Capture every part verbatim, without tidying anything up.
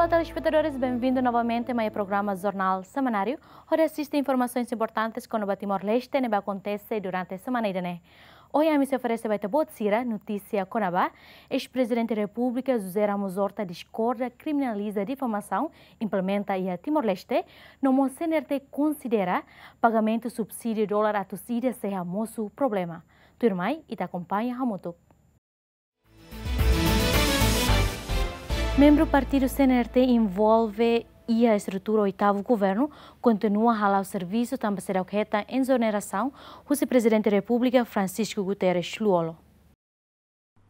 Telespetadores, benvindu novamente mai programa Jornál Semanáriu, hodi asiste informasaun importante kona-ba Timor-Leste ne'ebé akontese durante semana ida-ne'e. Ohin ami sei oferese ba ita-boot sira notísia kona-ba: eis-Prezidente Repúblika José Ramos Horta diskorda kriminaliza difamasaun implementa iha Timor-Leste, no mós C N R T konsidera pagamentu subsídiu dolar atus ida sei hamosu problema. Tuirmai, ita akompaña hamutuk. Membru partidu C N R T envolve iha estrutura oitavu governu kontinua hala'o servisu tanba seidauk hetan ezonerasaun husi Prezidente Repúblika Francisco Guterres Lú-Olo.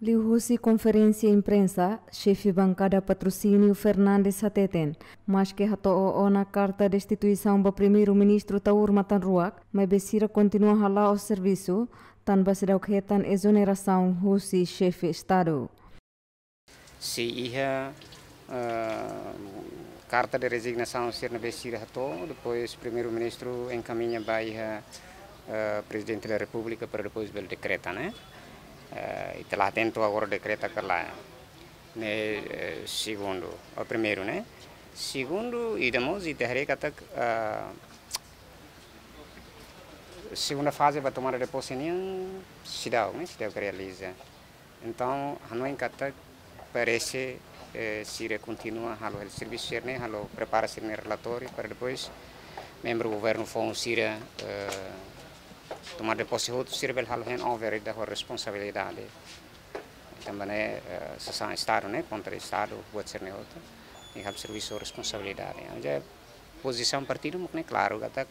Liuhusi konferénsia imprensa, xefe bankada Patrocínio Fernandes hateten, maske hato'o ona karta destituisaun ba Primeiru-Ministru Taur Matan Ruak, maibé sira kontinua hala'o servisu, tanba seidauk hetan ezonerasaun husi xefe Estadu. Sei iha, eh, karta de rezignasaun sira ne'ebé sira hato'o, depois Primeiru-Ministru enkamiña ba iha, eh, Prezidente da Repúblika para depois bele dekreta, ne'e? Eh, ita la hatene to'o agora dekreta ka lae. Ne'e, eh, segundu, ou primeiru, ne'e? Segundu, ida mós ita haree katak, eh, segunda faze ba tomada de pose nian seidauk, ne'e? Seidauk realiza. Entaun, hanoin katak parese, eh, sira kontinua halo hela servisu sira-ne'e, halo prepara sira-nia relatóriu para depois membru governu foun sira, eh, tomada de pose hotu sira bele halo handover ida ho responsabilidade. Tanba ne'e, eh, sasán Estadu, ne'e, kontra Estadu, buat sira-ne'e hotu. I halo servisu ho responsabilidade. Entaun, pozisaun partidu mak ne'e klaru katak,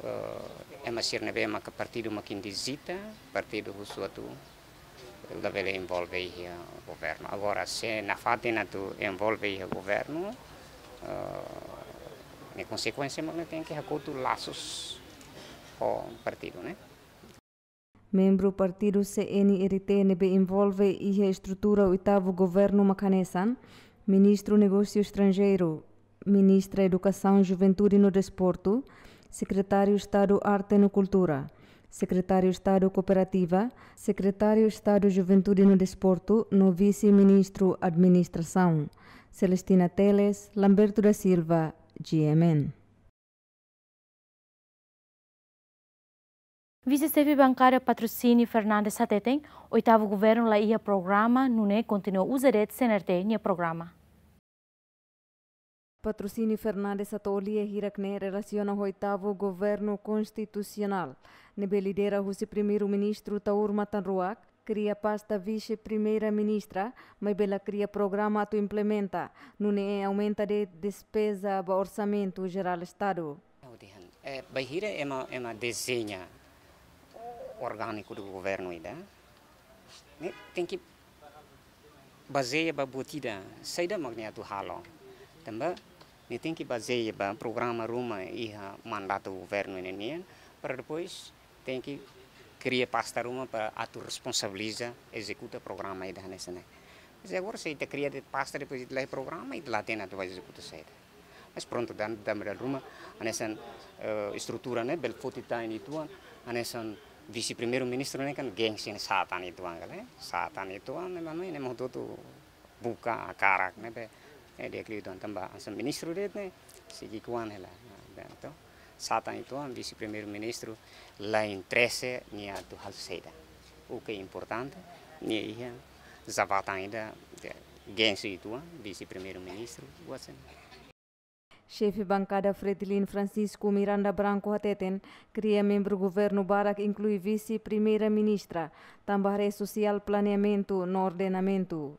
eh, ema sira ne'ebé maka partidu mak indizita, partidu husu atu labele envolve iha governu. Agora, se nafatin atu envolve iha governu, eh, ne'e konsekuénsia mak ne'e tenke hakotu lasus ho partidu, ne'e? Membru partidu C N R T ne'ebé envolve iha estrutura oitavu governu mak hanesan Ministru Negósiu Estranjeiru, Ministra Edukasaun, Juventude no Desportu, Sekretáriu Estadu Arte no Kultura, Sekretáriu Estadu Kooperativa, Sekretáriu Estadu Juventude no Desportu, no Vise-Ministru Administrasaun. Celestina Teles, Lamberto da Silva, G M N. Vise-Xefe Bankada Patrocínio Fernandes hateten, oitavu governu la iha programa, nune'e kontinua uza de'it C N R T nia programa. Patrocínio Fernandes hato'o lia hirak-ne'e relasiona ho oitavu governu konstitusionál, ne'ebé lidera husi Primeiru-Ministru Taur Matan Ruak, kria pasta Vise-Primeira-Ministra, maibé la kria programa atu implementa, nune'e aumenta de'it despeza ba Orsamentu Jerál Estadu. Ha'u dehan, eh, bainhira ema, ema dezeña orgániku do governu ida, ne'e tenke bazeia ba buat ida, saida mak nia atu halo. Tanba, nia tenke bazeia ba programa ruma iha mandatu governu ne'e nian, para depois tenke kria pasta ruma para atu responsabiliza, ezekuta programa ida hanesan ne'e. Mas agora se ita kria de'it pasta, depois ita la iha programa, ita la hatene atu ezekuta saida. Mas prontu, dan, dan, dan ruma, hanesan, eh, estrutura ne'e bele foti tan uitoan, hanesan Vise-Primeiru-Ministru ne'e kan gengsi ne'e sá tan uitoan kale, sá tan uitoan, ne'e mano, ne'e mós hotu-hotu buka hakarak ne'ebé, eh, di'ak liu uitoan tanba hanesan ministru de'it ne'e, sei ki'ikoan hela, nah, dan to, sá tan uitoan, Vise-Primeiru-Ministru la interese nia atu halo saida. O que é importante, nia iha jabatan ida, de, gengsi uitoan, Vise-Primeiru-Ministru, wasen. Xefe bankada Fretilin Francisco Miranda Branco hateten, kria membru governu barak inklui Vise-Primeira-Ministra, tanba haree sosiál planeamentu no ordenamentu.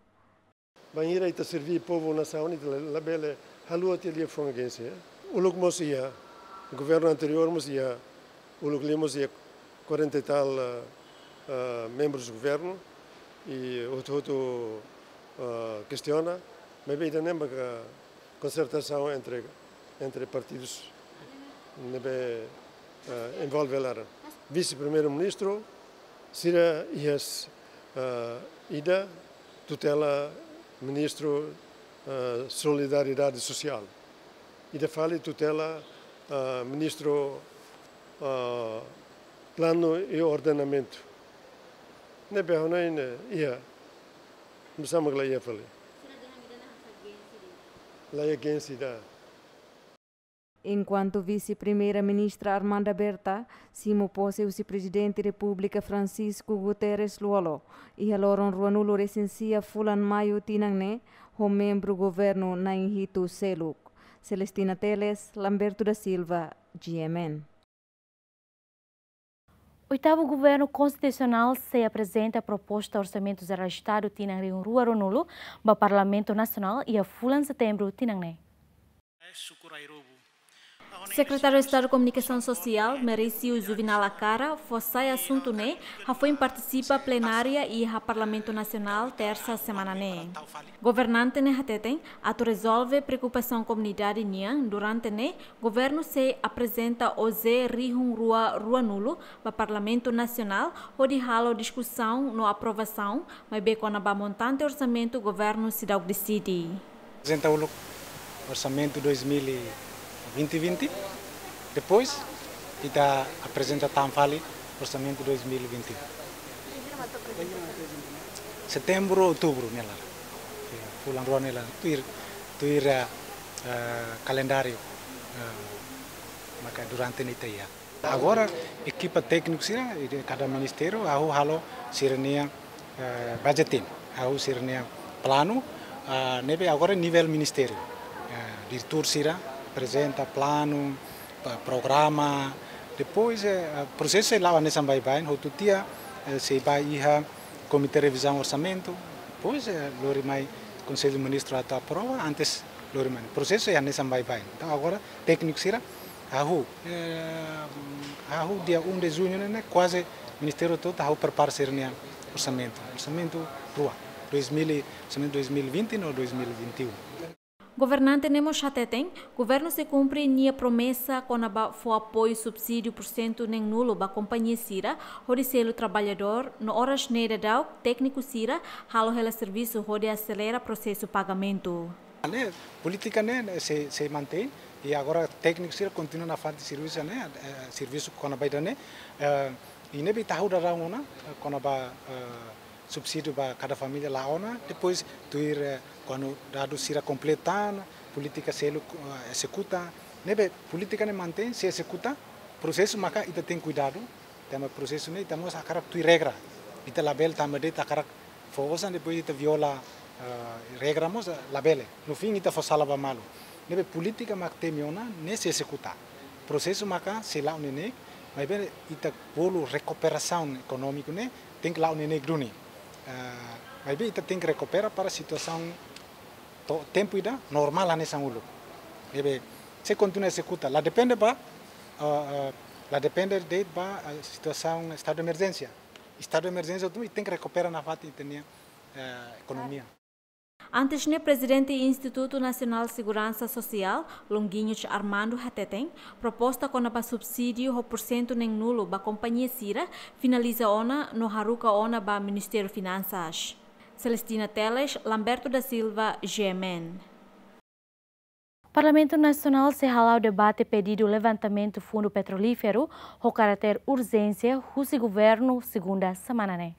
Bainhira ita serví povu nasaun, ita la, labele haluha tiha liafuan gengsi, eh. Uluk mós iha, governu anteriór mós iha, uluk liu mós iha quarenta e tal, eh, eh, membrus governu, i hotu-hotu, eh, kestiona, maibé ita-nia maka konsertasaun entre, entre partidus ne'ebé, eh, envolve laran. Vise-Primeiru-Ministru, sira iha, eh, ida tutela Ministru, eh, Solidariedade Sosiál. Ida fali tutela, eh, Ministru, eh, Planu i Ordenamentu. Ne'ebé ha'u hanoin, eh, iha. Nusá mak la iha fali. La against ida. Enkuantu Vise-Primeira-Ministra Armanda Berta simu pose husi Prezidente Repúblika Francisco Guterres Lú-Olo, iha loron ruanulu resin sia fulan Maiu tinan ne'e, ho membru governu na'in hitu seluk. Celestina Teles, Lamberto da Silva, G M N. Oitavu Governu Konstitusionál sei aprezenta proposta Orsamentu Jerál Estadu tinan rihun rua ruanulu ba Parlamentu Nasionál iha fulan Setembru tinan ne'e. Sekretáriu Estadu Komunikasaun Sosiál, Merício Juvinal Acara, fó sai asuntu ne'e hafoin partisipa plenária iha Parlamentu Nasionál, tersa semana ne'e. Governante ne'e hateten, atu rezolve preokupasaun komunidade nian, durante ne'e, governu sei aprezenta O J rihun rua ruanulu ba Parlamentu Nasionál, hodi halo diskusaun no aprovasaun, maibé kona-ba montante orsamentu governu seidauk deside. Aprezenta uluk orsamentu dois mil e vinte, vinte, depois ita aprezenta tan fali orsamentu dois mil e vinte. Setembru, outubru, ne'e laran. Fulan rua ne'e laran. Tuir, tuir, eh, eh, kalendáriu, eh, maka durante ne'e ita iha. Agora, ekipa tékniku sira, de kada ministériu, ha'u halo sira-nia, eh, budgeting, ha'u sira-nia planu, ah, ne'ebé agora nivel ministériu. Eh, diretór sira aprezenta planu, pa-, programa, depois, eh, prosesu sei la'o hanesan baibain, hotu tiha, eh, sei bá iha Komité Revizaun Orsamentu, depois, eh, lori mai Konsellu Ministru atu aprova, antes lori mai. Prosesu sei hanesan baibain. Entaun, agora, tékniku sira, hahú, eh, hahú dia um de junho ne'e, ne'e kuaze ministériu to'o hahú prepara sira-nia orsamentu. Orsamentu rua, dois mil e, orsamentu dois mil e vinte no dois mil e vinte e um. Governante ne'e mós hateten, governu sei kumpre nia promesa kona-ba fó apoiu subsídiu pursentu neen-nulu ba kompañia sira, hodi selu traballadór, no oras ne'e daudaun, tékniku sira, halo hela servisu hodi aselera prosesu pagamentu. Ne'e, polítika ne'e, ne'e sei, sei mantein, i agora tékniku sira kontinua nafatin servisu ne'e, eh, servisu kona-ba ida-ne'e, eh, i ne'ebé ita hahú daudaun ona, eh, kona-ba, eh, subsídiu ba kada família la'o ona, depois tuir, eh, kuandu dadus sira kompleta, polítika seluk, eh, ezekuta, ne'ebé polítika ne'e mantein, sei ezekuta, prosesu maka ita tenke kuidadu, tanba prosesu ne'e ita mós hakarak tuir regra. Ita labele tanba de'it hakarak fó osan depois ita viola, eh, regra mós, eh, labele. No fim ita fó sala ba malu. Ne'ebé polítika mak temi ona, ne'e sei ezekuta. Prosesu maka sei la'o neineik, maibé ita bolu rekuperasaun ekonómiku ne'e tenke la'o neineik duni. Eh, maibé ita tenke rekupera para situasaun to'o tempu ida normál hanesan uluk. Ne'ebé sei kontinua ezekuta. La depende ba, eh, eh, la depende de'it ba, eh, situasaun estadu de emerjénsia. Estadu de emerjénsia tu tenke rekupera nafatin ita-nia, eh, ekonomia. Antes ne'e, Prezidente Institutu Nasionál Seguransa Sosiál, Longuinhos Armando hateten, proposta kona-ba subsídiu ho pursentu neen-nulu ba kompañia sira finaliza ona no haruka ona ba Ministériu Finansas. Celestina Teles, Lamberto da Silva, G M N. Parlamentu Nasionál sei hala'o debate pedidu levantamentu fundu petrolíferu ho karáter urjénsia husi governu segunda semana ne'e.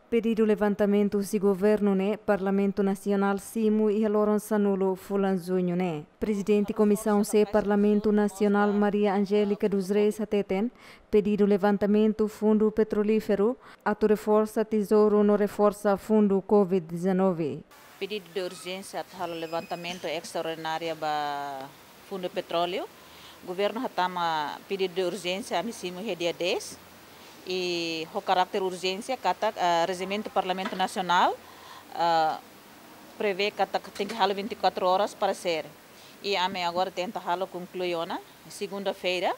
Pedidu levantamentu husi governu ne'e Parlamentu Nasionál simu iha loron sanulu fulan juñu ne'e. Prezidente Komisaun C Parlamentu Nasionál Maria Angélica dos Reis hateten, pedidu levantamentu fundu petrolíferu atu reforsa tezouru no reforsa fundu covid dezanove. Pedidu de urjénsia atu halo levantamentu estraordinária ba Fundu Petróleu. Governu hatama pedidu de urjénsia ami simu iha dia dez. I ho karáter urjénsia katak, ah, Rejimentu Parlamentu Nasionál, ah, prevee katak tenke halo vinte e quatro horas para ser. I ami agora tenta halo konklui ona. Segunda-feira,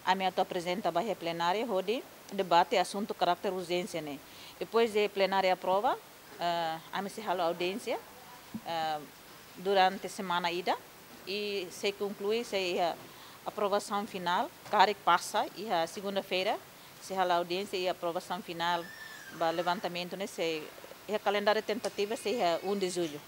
ami atu aprezenta ba iha plenária hodi debate asuntu karáter urjénsia ne'e. Depois de plenária aprova, eh, ami sei halo audiénsia, eh, durante semana ida, i sei konklui, sei iha aprovasaun finál, karik pasa, iha segunda-feira, sei halo audiénsia i aprovasaun finál ba levantamentu ne'e sei iha kalendáriu tentativa, sei iha um de julho.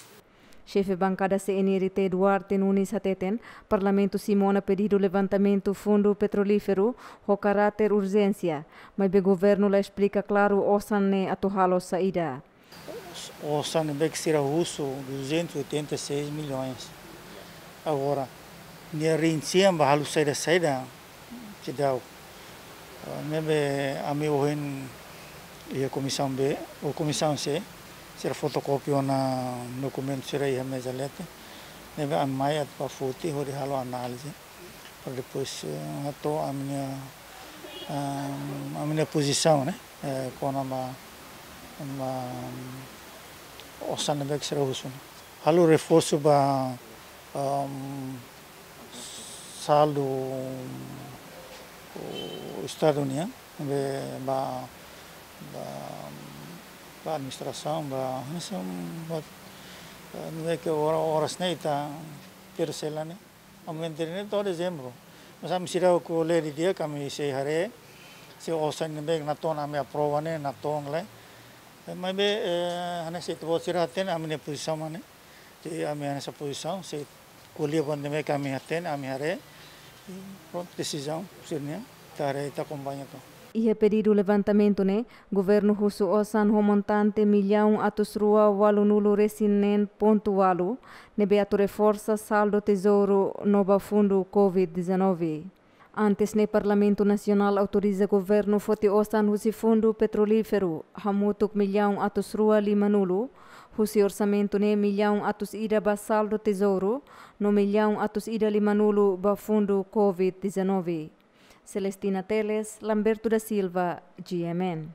Xefe Bankada C N R T Duarte Nunes hateten, Parlamentu simu ona pedidu levantamentu fundu petrolíferu ho karáter urjénsia, maibé governu la esplika klaru osan ne'e atu halo saida. Osan ne'ebé sira husu duzentos e oitenta e seis milhões. Agora, nia rinsian ba halo saida-saida, seidauk. Ah, ne'ebé ami ohin iha Komisaun B, ou Komisaun C, sira fotokópia ona dokumentu sira iha meza leten. Ne'ebé ami mai atu ba foti hodi halo análize. Para depois, eh, hato'o ami-nia, ah, ami-nia pozisaun, ne'e? Eh, kona-ba, ba, osan ne'ebé sira husu. Halo reforsu ba, um, saldu, uh, Estadu nian, be ba, ba, ba administrasaun, ba, hanesan, ba, eh, ne'ebé ke ora-, oras ne'e ita persela ne'e. Ami entrega ne'e to'o dezembru. Mas ami seidauk lee didi'ak, ami sei haree, se osan ne'ebé natoon ami aprova ne'e, natoon ka lae. Maibé, eh, hanesan ita-boot sira hatene, ami-nia pozisaun mak ne'e. Jadi ami hanesan pozisaun, se ko'alia buat ne'ebé ke ami hatene, ami haree. I prontu, desizaun sira-nian, ita haree, ita akompaña to'o. Iha pedidu levantamentu ne'e, governu husu osan ho montante millaun atus rua ualunulu resin neen pontu ualu, ne'ebé atu reforsa saldu tezouru no ba fundu covid dezanove. Antes ne'e Parlamentu Nasionál autoriza governu foti osan husi fundu petrolíferu, hamutuk millaun atus rua limanulu, husi orsamentu ne'e millaun atus ida ba saldu tezouru, no millaun atus ida limanulu ba fundu covid dezanove. Celestina Teles, Lamberto da Silva, G M N.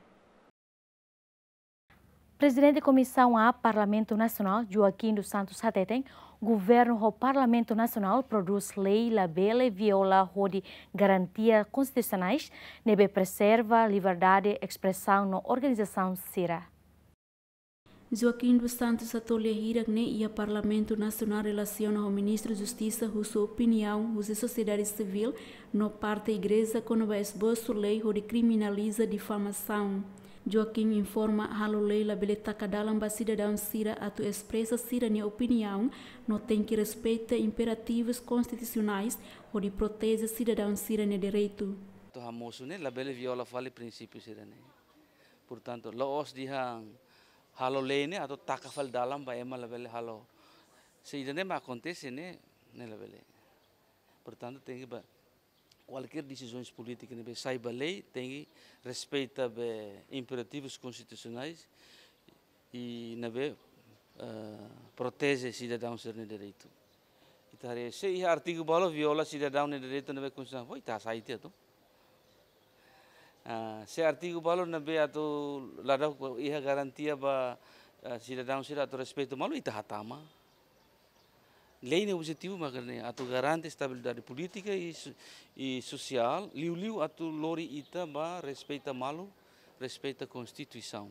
Prezidente Komisaun A Parlamentu Nasionál, Joaquim dos Santos hateten, governu ho Parlamentu Nasionál prodús lei labele viola hodi garantia konstitusionais, ne'ebé preserva liberdade espresaun no organizasaun sira. Joaquim dos Santos hato'o lia hirak ne'e iha Parlamentu Nasionál relasiona ho Ministru Justisa husu opiniaun husi sosiedade sivíl no parte igreja kona-ba esbosu lei hodi kriminaliza difamasaun. Joaquim informa halo lei labele taka dalan ba sidadaun sira atu espresa sira-nia opiniaun, no tenke respeita imperativus konstitusionais hodi proteje sidadaun sira-nia direitu. Atu hamosu ne'e labele viola fali prinsípiu sira-ne'e. Portantu, la'ós dehan halo lei ne'e atu taka fali dalan ba ema labele halo. Se ida-ne'e mak akontese ne'e, ne'e labele. Portantu, tenke ba kualkér desizaun polítika ne'ebé sai ba lei, tenke respeita ba imperativus konstitusionais i ne'ebé, eh, proteje sidadaun sira-nia direitu. Ita haree se iha artigu balu viola sidadaun nia direitu ne'ebé konstitusionál, ita hasai tiha atu. Ah, se artigu balu ne'ebé atu ladauk iha garantia ba, ah, sidadaun sira atu respeitu malu, ita hatama. Lei nia objetivu mak ne'e, atu garante estabilidade polítika i so-, i sosiál, liuliu atu lori ita ba respeita malu, respeita Konstituisaun.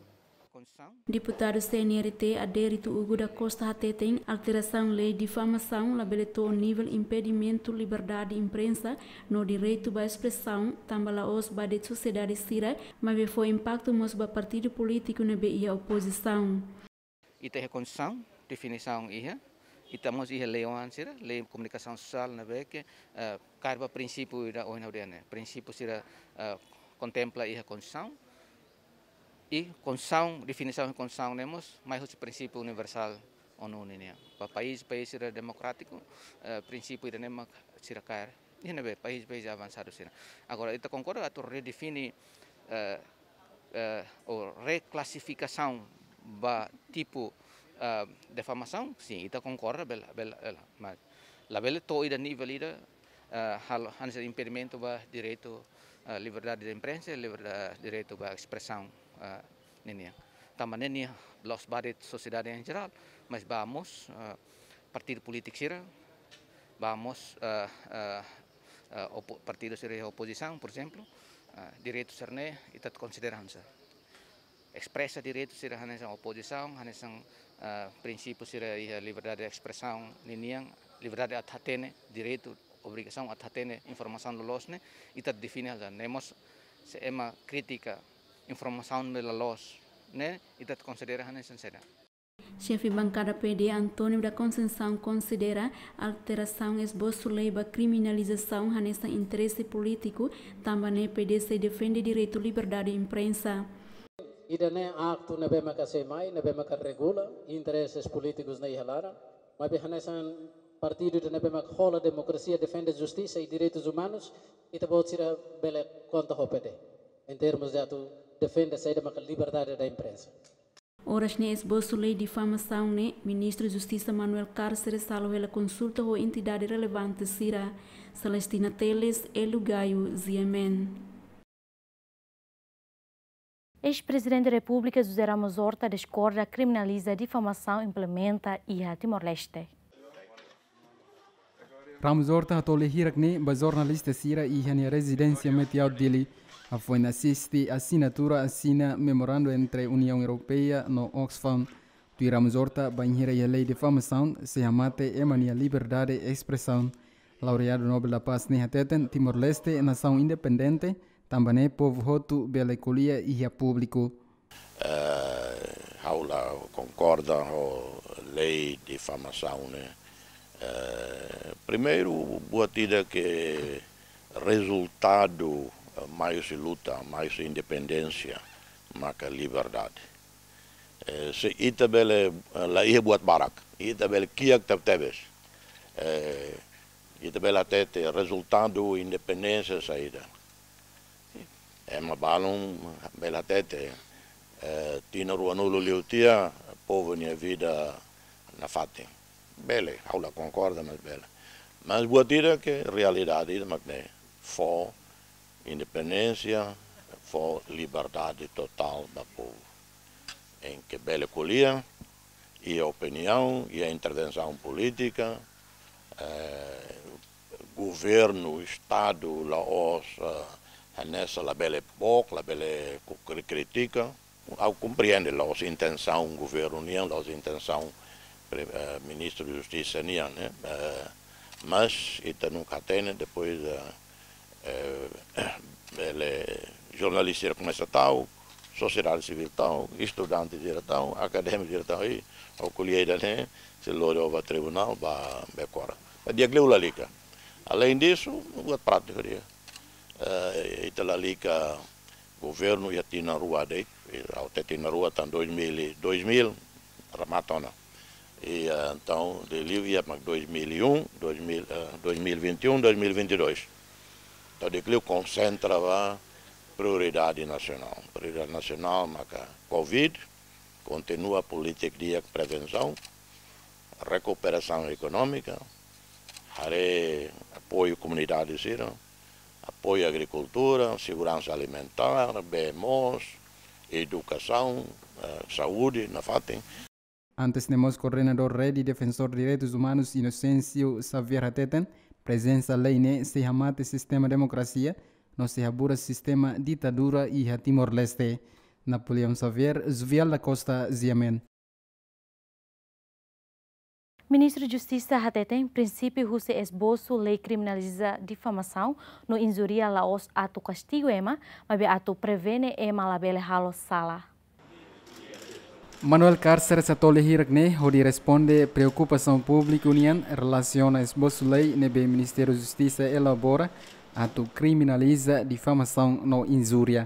Deputadu C N R T Adérito Hugo da Costa hateten, alterasaun lei difamasaun labele to'o nivel impedimentu liberdade imprensa no direitu ba espresaun, tanba la'ós ba de'it sosiedade sira, maibé fó impaktu mós ba partidu polítiku ne'ebé iha opozisaun. Ita iha Konstituisaun, definisaun iha, ita mós iha lei oan sira, lei komunikasaun sosiál ne'ebé ke, eh, kaer ba prinsípiu ida ohin ha'u dehan ne'e. Prinsípiu sira, eh, kontempla iha Konstituisaun. I Konstituisaun, definisaun Konstituisaun ne'e mós mai husi prinsípiu universál ONU nian. Ba país, país sira demokrátiku, eh, prinsípiu ida-ne'e mak sira kaer. Iha ne'ebé país, país avansadu sira. Agora, ita konkorda atu redefine, eh, eh, ou reklasifikasaun ba tipu, eh, difamasaun, sin, ita konkorda, bele, bele, bele, mas labele to'o ida nivel ida, eh, halo, hanesan impedimentu ba direitu, eh, liberdade de imprensa, liberdade, direitu ba espresaun, eh, ninian. Tanba ne'e nia la'ós ba de'it sosiedade em geral, mas ba mós, eh, partidu polítiku sira, ba mós, eh, eh, eh, opo-, partidu sira iha opozisaun, por ezemplu, eh, direitu sira-ne'e ita konsidera hanesan. Espresa direitu sira hanesan opozisaun, hanesan, eh, prinsípiu sira iha liberdade de espresaun ninian, liberdade atu hatene, direitu, obrigasaun atu hatene informasaun loloos ne'e, ita define hanesan. Ne'e mós se ema kritika informasaun ne'ebé loloos ne'e, ita konsidera hanesan saida. Xefe bankada P D, António da Conceição, konsidera alterasaun esbosu lei ba kriminalizasaun hanesan interese polítiku, tanba ne'e P D sei defende direitu liberdade imprensa. Ida-ne'e aktu ne'ebé maka sei mai, ne'ebé maka regula intereses polítikus ne'e iha laran, maibé hanesan partidu ida ne'ebé mak hola demokrasia, defende justisa i direitus umanus, ita-boot sira bele konta ho P D, em termos de atu defende saida maka liberdade da imprensa. Oras ne'e esbosu lei difamasaun ne'e, Ministru Justisa Manuel Cárceres halo hela konsulta ho entidade relevante sira, Celestina Teles, Elu Gaio, G M N. Eis-Prezidente Repúblika José Ramos Horta diskorda kriminaliza difamasaun implementa iha Timor-Leste. Ramos Horta hato'o lia hirak-ne'e ba jornalista sira iha nia rezidénsia Metiaur Dili, hafoin asiste asinatura asina memorandu entre Uniaun Europeia no Oxfam. Tuir Ramos Horta, bainhira iha lei difamasaun, sei hamate ema nia liberdade espresaun. Laureadu Nobel da Paz ne'e hateten, Timor-Leste nasaun independente, tanba ne'e povu hotu bele ko'alia iha públiku. Eh, ha'u la konkorda ho lei difamasaun ne'e. Eh, primeiru, buat ida ke rezultadu, eh, mai husi luta, mai husi independénsia, maka liberdade. Eh, se ita bele, eh, la iha buat barak, ita bele kiak tebetebes. Eh, ita bele hatete rezultadu independénsia saida. Ema balun bele hatete, eh, tinan ruanulu liu tiha, povu nia vida nafatin. Bele, ha'u la konkorda, mas bele. Mas buat ida ke realidade ida mak ne'e, fó independénsia, fó liberdade totál ba povu. Em ke bele ko'alia, iha opiniaun, iha intervensaun polítika, eh, governu, Estadu, la'ós, eh, hanesan labele book, labele ku-, kri-, kritika. Ha'u komprende la'ós intensaun governu nian, la'ós intensaun pre-, eh, Ministru Justisa nian, ne'e? Eh, mas ita nunka hatene, depois, eh, eh, bele jornalista sira komesa ta'uk, sosiedade sivíl ta'uk, estudante sira ta'uk, akadémiku sira ta'uk, i ha'u ko'alia ida-ne'e, sei lori ó ba tribunál, ba bekora. Di'ak liu lalika. Além disso, buat prátiku de'it. Eh, ita lalika governu iha tinan rua de'it, eh, ha'u hatete tinan rua tan dois mil, dois mil, remata ona. I, eh, entaun, liuliu iha mak dois mil e um, dois mil, eh, dois mil e vinte e um, dois mil e vinte e dois. Entaun, di'ak liu konsentra ba prioridade nasionál. Prioridade nasionál maka Covid, kontinua polítika di'ak prevensaun, rekuperasaun ekonómika, haree apoiu komunidade sira, apoiu agrikultura, seguransa alimentár, bee moos, edukasaun, eh, saúde, nafatin. Antes ne'e mós koordenadór Rede Defensór Direitus Umanus Inocêncio Xavier hateten, prezensa lei ne'e sei hamate sistema demokrasia, no sei haburas sistema ditadura iha Timor-Leste. Napoleão Xavier, Zuvial da Costa, G M N. Ministru Justisa hateten, prinsípiu husi esbosu lei kriminaliza difamasaun no injúria la'ós atu kastigu ema, maibé atu prevene ema labele halo sala. Manuel Cárceres hato'o lia hirak-ne'e hodi responde preokupasaun públiku nian relasiona esbosu lei ne'ebé Ministériu Justisa elabora atu kriminaliza difamasaun no injúria.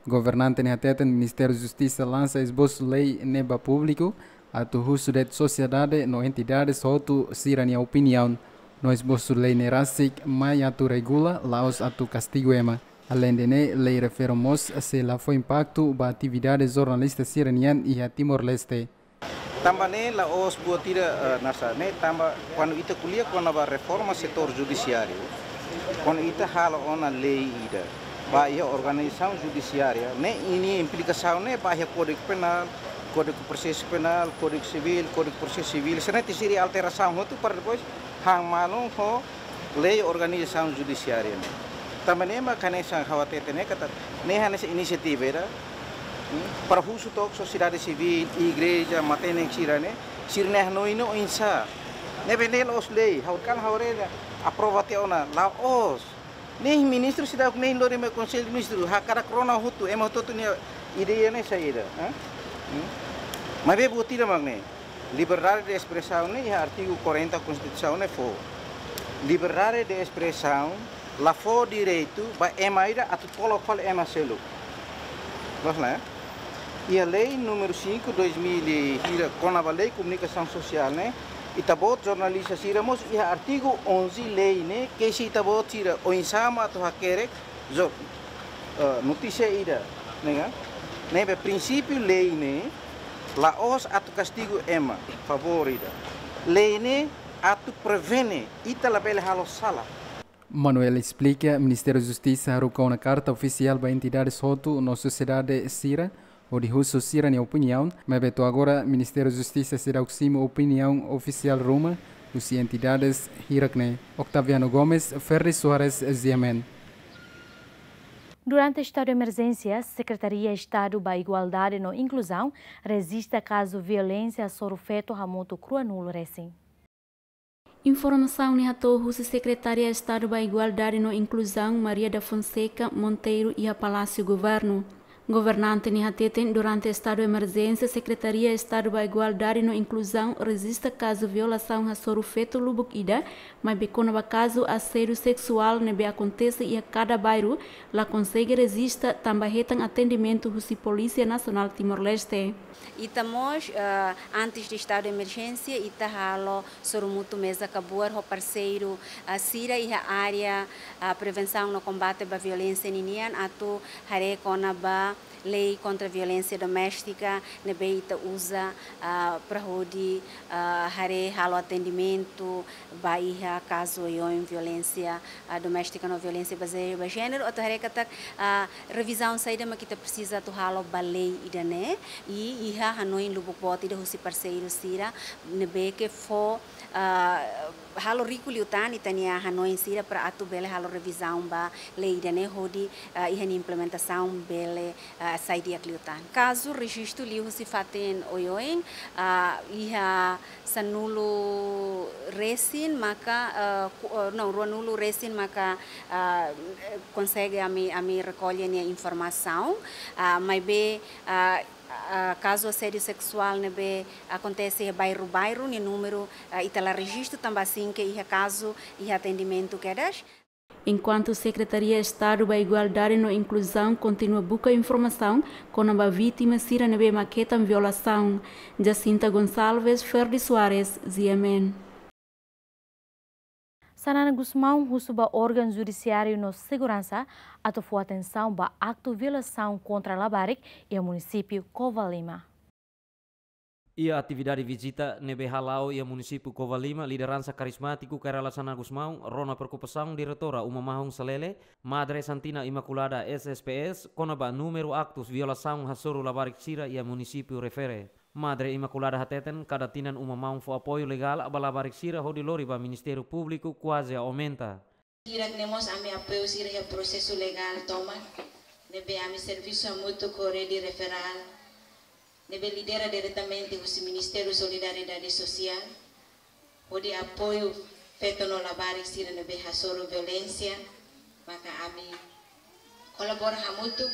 Governante ne'e hateten Ministériu Justisa lansa esbosu lei ne'e ba públiku atu husu de'it sosiedade no entidades hotu sira-nia opiniaun. No esbosu lei ne'e rasik mai atu regula, la'ós atu kastigu ema. Aleinde ne'e, lei refere mós sei la fó impaktu ba atividade jornalista sira-nian iha Timor-Leste. Tanba ne'e la'ós buat ida, eh, nasa ne'e tanba kuandu ita ko'alia kona-ba reforma setór judisiáriu, kuandu ita halo ona lei ida ba iha organizasaun judisiária, ne'e ninia implikasaun ne'e ba iha Kódigu Penál, Kódigu Prosesu Penál, Kódigu Sivíl, Kódigu Prosesu Sivíl, sira-ne'e tenke ser alterasaun hotu para depois han malu ho lei organizasaun judisiária ne'e. Tanba ne'e mak hanesan ha'u hatete ne'e katak ne'e hanesan inisiativa ida, hmm, para husu took sosiedade sivíl, igreja, matenek sira-ne'e, sira-ne'e hanoin no oinsá. Ne'ebé ne'e la'ós lei, ha'u kan ha'u haree aprova tiha ona, la'ós. Ne'e ministru seidauk ne'e lori mai Konsellu Ministru, hakarak rona hotu, ema hotu-hotu nia ideia ne'e saida, ha? Hmm? Maibé buat ida mak ne'e. Liberdade de espresaun ne'e iha artigu quarenta Konstituisaun ne'e fó. Liberdade de espresaun la fó direitu ba ema ida atu tolok fali ema seluk. Loos la, eh? Iha lei númeru cinco, dois mil e hira, kona-ba lei komunikasaun sosiál ne'e, Ita-boot jornalista sira mós iha artigu onze lei ne'e, kesi ita-boot sira oinsá mak atu hakerek, jo, eh, notísia ida, ne'e ka? Ne'ebé prinsípiu lei ne'e, la'ós atu kastigu ema, favór ida. Lei ne'e atu prevene, ita labele halo sala. Manuel esplika, Ministériu Justisa haruka ona karta ofisiál ba entidades hotu no sosiedade sira, hodi husu sira-nia opiniaun, maibé to'o agora Ministériu Justisa seidauk simu opiniaun ofisiál ruma husi entidades hirak-ne'e. Octaviano Gomes, Ferdi Soares, G M N. Durante estadu de emerjénsia, Sekretaria Estadu ba Igualdade no Inkluzaun rejista kazu violénsia hasoru feto hamutuk ruanulu resin. Informasaun ne'e hato'o husi Sekretaria Estadu ba Igualdade no Inkluzaun, Maria da Fonseca Monteiro, iha Palásiu Governu. Governante ne'e hateten, durante estadu emerjénsia, Sekretaria Estadu ba Igualdade no Inkluzaun rejista kazu violasaun hasoru feto lubuk ida, maibé kona-ba kazu asédiu seksuál ne'ebé akontese iha kada bairru, la konsege rejista tanba hetan atendimentu husi Polísia Nasionál Timor-Leste. Ita mós, eh, antes de estadu de emerjénsia, ita halo sorumutu meza kabuar ho parseiru, ah, sira iha área, ah, prevensaun no kombate ba violénsia ninian atu haree kona-ba lei kontra violénsia doméstika ne'ebé ita uza, ah, para hodi, ah, haree halo atendimentu ba iha kazu oioin violénsia, ah, doméstika no violénsia bazeia ba jéneru, atu haree katak, ah, revizaun saida mak ita presiza atu halo ba lei ida-ne'e, i iha hanoin lubuk boot ida husi parseiru sira ne'ebé ke fó, ah, halo riku liután ita-nia hanoin sira para atu bele halo revizaun ba lei ida-ne'e hodi, ah, iha nia implementasaun bele, ah, sai di'ak liután. Kazu rejistu liuhusi fatin oioin, ah, iha sanulu resin maka, ah, ku-, ah, não, ruanulu resin maka, ah, konsege ami, ami rekolla nia informasaun, ah, maibé, ah, ah, kazu asédiu seksuál ne'ebé akontese iha bairru-bairru, nia númeru, ah, ita la rejistu tanba asin ke iha kazu, iha atendimentu kedas. Enkuantu Sekretaria Estadu ba Igualdade no Inkluzaun kontinua buka informasaun kona-ba vítima sira ne'ebé mak hetan violasaun. Jacinta Gonçalves, Ferdi Soares, G M N. Xanana Gusmão husu ba órgaun judisiáriu no seguransa atu fó atensaun ba aktu violasaun kontra labarik iha munisípiu Covalima. Iha atividade vizita ne'ebé hala'o iha munisípiu Covalima, lideransa karizmátiku Kay Rala Xanana Gusmão rona preokupasaun Diretora Uma Mahon Salele, Madre Santina Imaculada S S P S, kona-ba númeru aktus violasaun hasoru labarik sira iha munisípiu refere. Madre Imaculada hateten, kada tinan Uma Mahon fó apoiu legál ba labarik sira hodi lori ba Ministériu Públiku kuaze aumenta. Hirak ne'e mós ami apoiu sira iha prosesu legál tomak, ne'ebé ami servisu hamutuk ho Rede Referál, ne'ebé lidera diretamente husi Ministériu Solidariedade Sosiál, hodi apoiu feto no labarik sira ne'ebé hasoru violénsia, maka ami kolabora hamutuk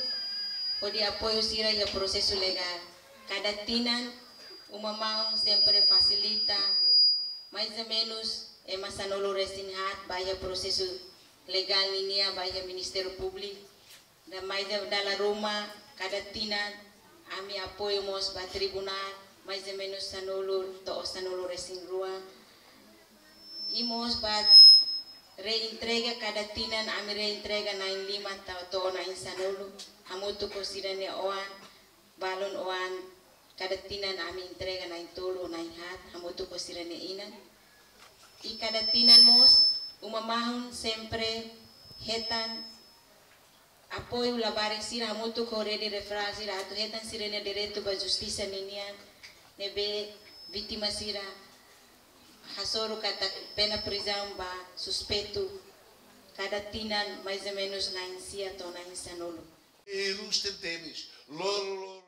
hodi apoiu sira iha prosesu legál. Kada tinan, Uma Mahon sempre fasilita mais ou menus ema sanulu resin haat ba iha prosesu legál ninian ba iha Ministériu Públiku. Dala, mais dala ruma, kada tinan ami apoiu mós ba tribunál, mais ou menus sanulu to'o sanulu resin rua. I mós ba reentrega, kada tinan ami reentrega na'in lima to'o, to'o na'in sanulu, hamutuk ho sira-nia oan, balun oan, kada tinan ami entrega na'in tolu, na'in haat, hamutuk ho sira-nia inan. I kada tinan mós, Uma Mahon sempre hetan apoiu labarik sira hamutuk ho Rede Referál sira atu hetan sira-nia direitu ba justisa ninian, ne'ebé vítima sira hasoru katak pena prizaun ba suspeitu kada tinan mais ou menus na'in sia to'o na'in sanulu.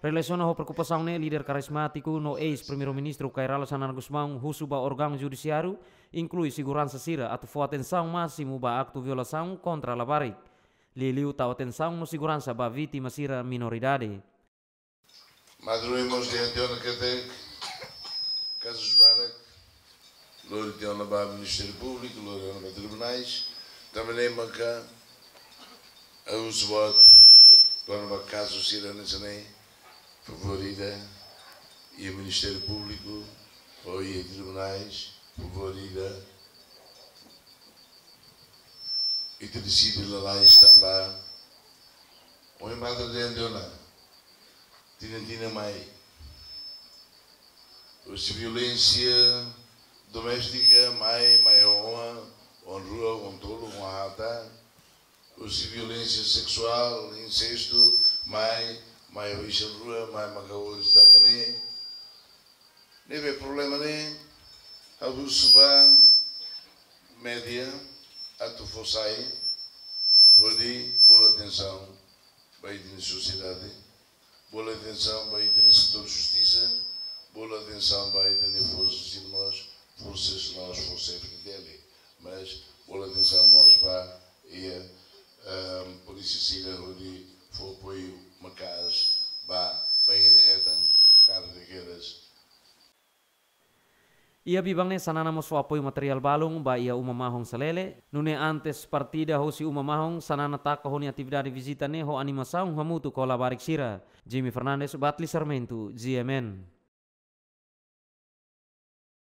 Relasiona ho preokupasaun ne'e, líder karizmátiku no eis-Primeiru-Ministru Kay Rala Xanana Gusmão husu ba órgaun judisiáriu, inklui seguransa sira atu fó atensaun másimu ba aktu violasaun kontra labarik. Liuliu tau atensaun no seguransa ba vítima sira minoridade. Madrugada mós dehan tiha ona katak kazus barak lori tiha ona ba Ministériu Públiku, lori ona ba tribunais, tanba ne'e maka ha'u husu boot kona-ba kazu sira hanesan ne'e, favór ida iha Ministériu Públiku ou iha tribunais, Por vida, ita deside lalais tanba ohin mata dente ona, tinan-tinan mai. Husi violénsia doméstika mai, mai ho oan, oan rua, oan tolu, oan haat. Husi violénsia seksuál, insestu, mai, mai ho isin rua, mai maka ho isin tanga ne'e. Ne'ebé problema ne'e, ha'u husu ba média atu fó sai, hodi bolu atensaun ba ita-nia sosiedade, bolu atensaun ba ita-nia setór justisa, bolu atensaun ba ita-nia forsas irmãos, forsas nós, forsa F D L, mas bolu atensaun mós ba iha, ehm, polísia sira hodi fó apoiu maka'as ba, ba ita hetan kaer kedas. Iha biban ne'e Xanana mós fó apoiu materiál balun ba iha uma mahon Salele, nune'e antes partida hosi uma mahon Xanana taka ho nia atividade vizita ne'e ho animasaun hamutuk ho labarik sira. Jimmy Fernandes, Batli Sarmento, G M N.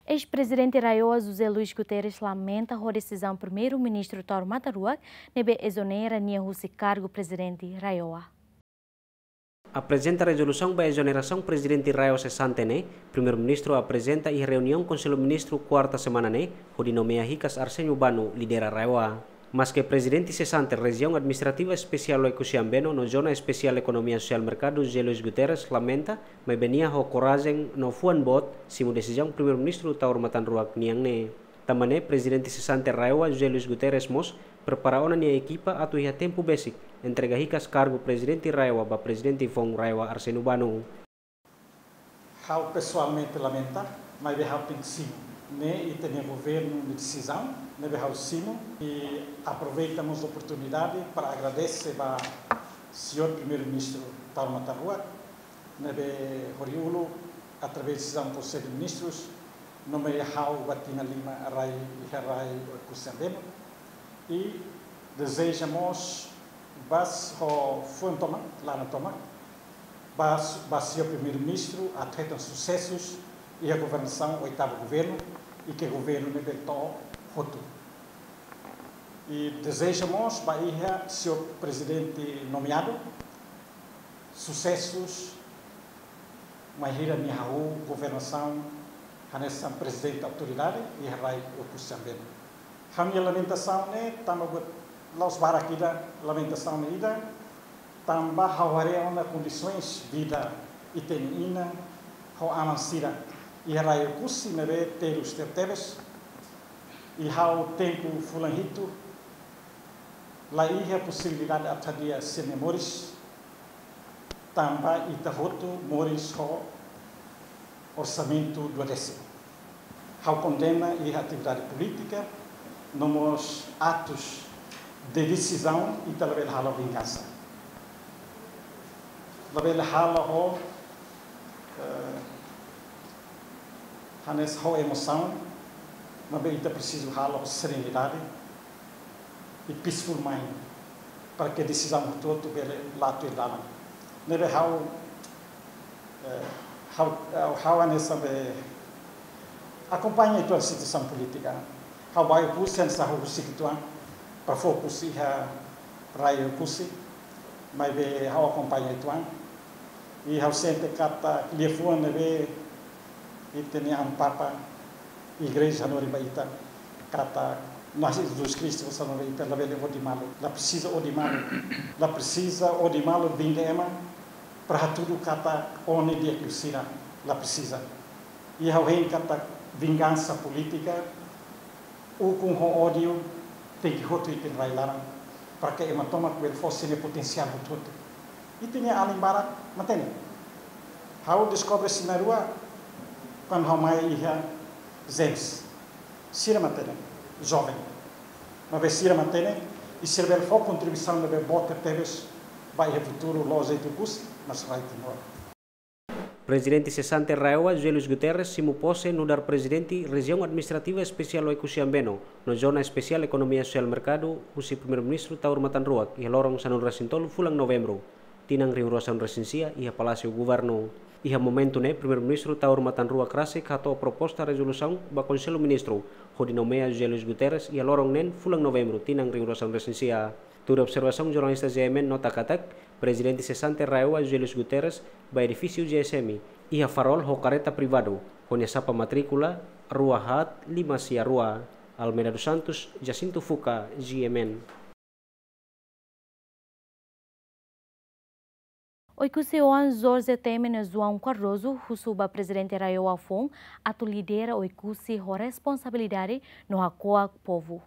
Eis-Prezidente RAEOA José Luís Guterres lamenta ho desizaun Primeiru-Ministru Taur Matan Ruak ne'ebé ezonera nia husi kargu Prezidente RAEOA. Aprezenta rezolusaun ba ezonerasaun Prezidente RAEOA sesante ne'e, Primeiru-Ministru aprezenta iha reuniaun Konsellu Ministru kuarta semana ne'e, hodi nomeia hikas Arsénio Bano lidera RAEOA. Maske Prezidente sesante Rejiaun Administrativa Espesiál Oekusi Ambeno no Zona Espesiál Ekonomia Sosiál Merkadu José Luís Guterres lamenta, maibé nia ho korajen no fuan boot simu desizaun Primeiru-Ministru Taur Matan Ruak nian ne'e. Tanba ne'e Prezidente sesante RAEOA José Luís Guterres mós prepara ona nia ekipa atu iha tempu besik entrega hikas kargu Prezidente RAEOA ba Prezidente foun RAEOA Arsénio Bano. Ha'u pesoalmente lamenta, maibé ha'u tenke simu. Ne'e ita-nia governu nia desizaun, ne'ebé ha'u simu, i aproveita mós oportunidade para agradese ba Señór Primeiru-Ministru Taur Matan Ruak, ne'ebé horiuluk, através desizaun Konsellu Ministrus, nomeia ha'u ba tinan lima rai iha rai Oekusi Ambeno. I dezeja mós ba s-, ho fuan tomak, laran tomak, ba s-, ba Señór Primeiru-Ministru atu hetan susesus iha governasaun oitavu governu, i ke governu ne'ebé to'o hotu. I dezeja mós ba iha Señór Prezidente nomeadu susesus mai hira nia hahú governasaun hanesan Prezidente Autoridade iha rai Oekusi Ambeno. Ha'u-nia lamentasaun ne'e tanba buat la'ós barak ida, lamentasaun ne'e ida, tanba ha'u haree ona kondisoens vida ita-nia inan ho aman sira iha rai Oekusi ne'ebé terus tebetebes, i ha'u tempu fulan hitu la iha posibilidade atu hadi'a sira-nia moris, tanba ita hotu moris ho orsamentu duodésimu. Ha'u kondena iha atividade polítika, no mós atus de desizaun ita labele halo vingansa. Labele halo ho, eh, hanesan ho emosaun, maibé ita presiza halo ho serenidade i peaceful mind, para ke desizaun hotu-hotu bele la'o tuir dalan. Ne'ebé ha'u, eh, ha'u, ha'u, ha'u hanesan be akompaña uitoan situasaun polítika. Ha'u bá Oekusi hanesan ha'u husik uitoan, para fokus iha rai Oekusi, maibé ha'u akompaña uitoan. I ha'u sente katak liafuan ne'ebé ita-nia Amu Papa, Igreja hanorin ba ita, katak Na'i Jesus Kristu hanesan hanorin ba ita, labele odi malu, la presiza odi malu, la presiza odi malu, vinga ema, para hatudu katak ó ne'e di'ak liu sira, la presiza. I ha'u hein katak vingansa polítika, ukun ho ódiu, tenke hotu ita-nia rai laran, para ke ema tomak bele fó sira-nia potensiál hotu-hotu. Ita-nia alin barak matenek. Ha'u deskobre sira na'in-rua, kuandu ha'u mai iha James. Sira matenek, joven. Maibé sira matenek, i sira bele fó kontribuisaun ne'ebé boot tebes ba iha futuru la'ós de'it Oekusi, mas rai Timor. Prezidente sesante RAEOA José Luís Guterres simu pose nu'udar Prezidente Rejiaun Administrativa Espesiál Oekusi Ambeno no Zona Espesiál Ekonomia Sosiál Merkadu husi Primeiru-Ministru Taur Matan Ruak iha loron sanulu-resin-tolu fulan Novembru, tinan rihun rua sanulu-resin-sia iha Palásiu Governu. Iha momentu ne'e, Primeiru-Ministru Taur Matan Ruak rasik hato'o proposta rezolusaun ba Konsellu Ministru, hodi nomeia José Luís Guterres iha loron neen fulan Novembru tinan rihun ruasaan resin sia. Tuir observasaun jornalista G M N nota katak, Prezidente sesante RAEOA José Luís Guterres bá edifísiu G S M iha Farol ho kareta privadu, ho nia sapa matríkula rua haat lima sia rua. Almeida dos Santos, Jacinto Fuca, G M N. Oekusi-oan Jorge Temer no João Cardoso husu ba Prezidente RAEOA foun atu lidera Oekusi ho responsabilidade no hako'ak povu.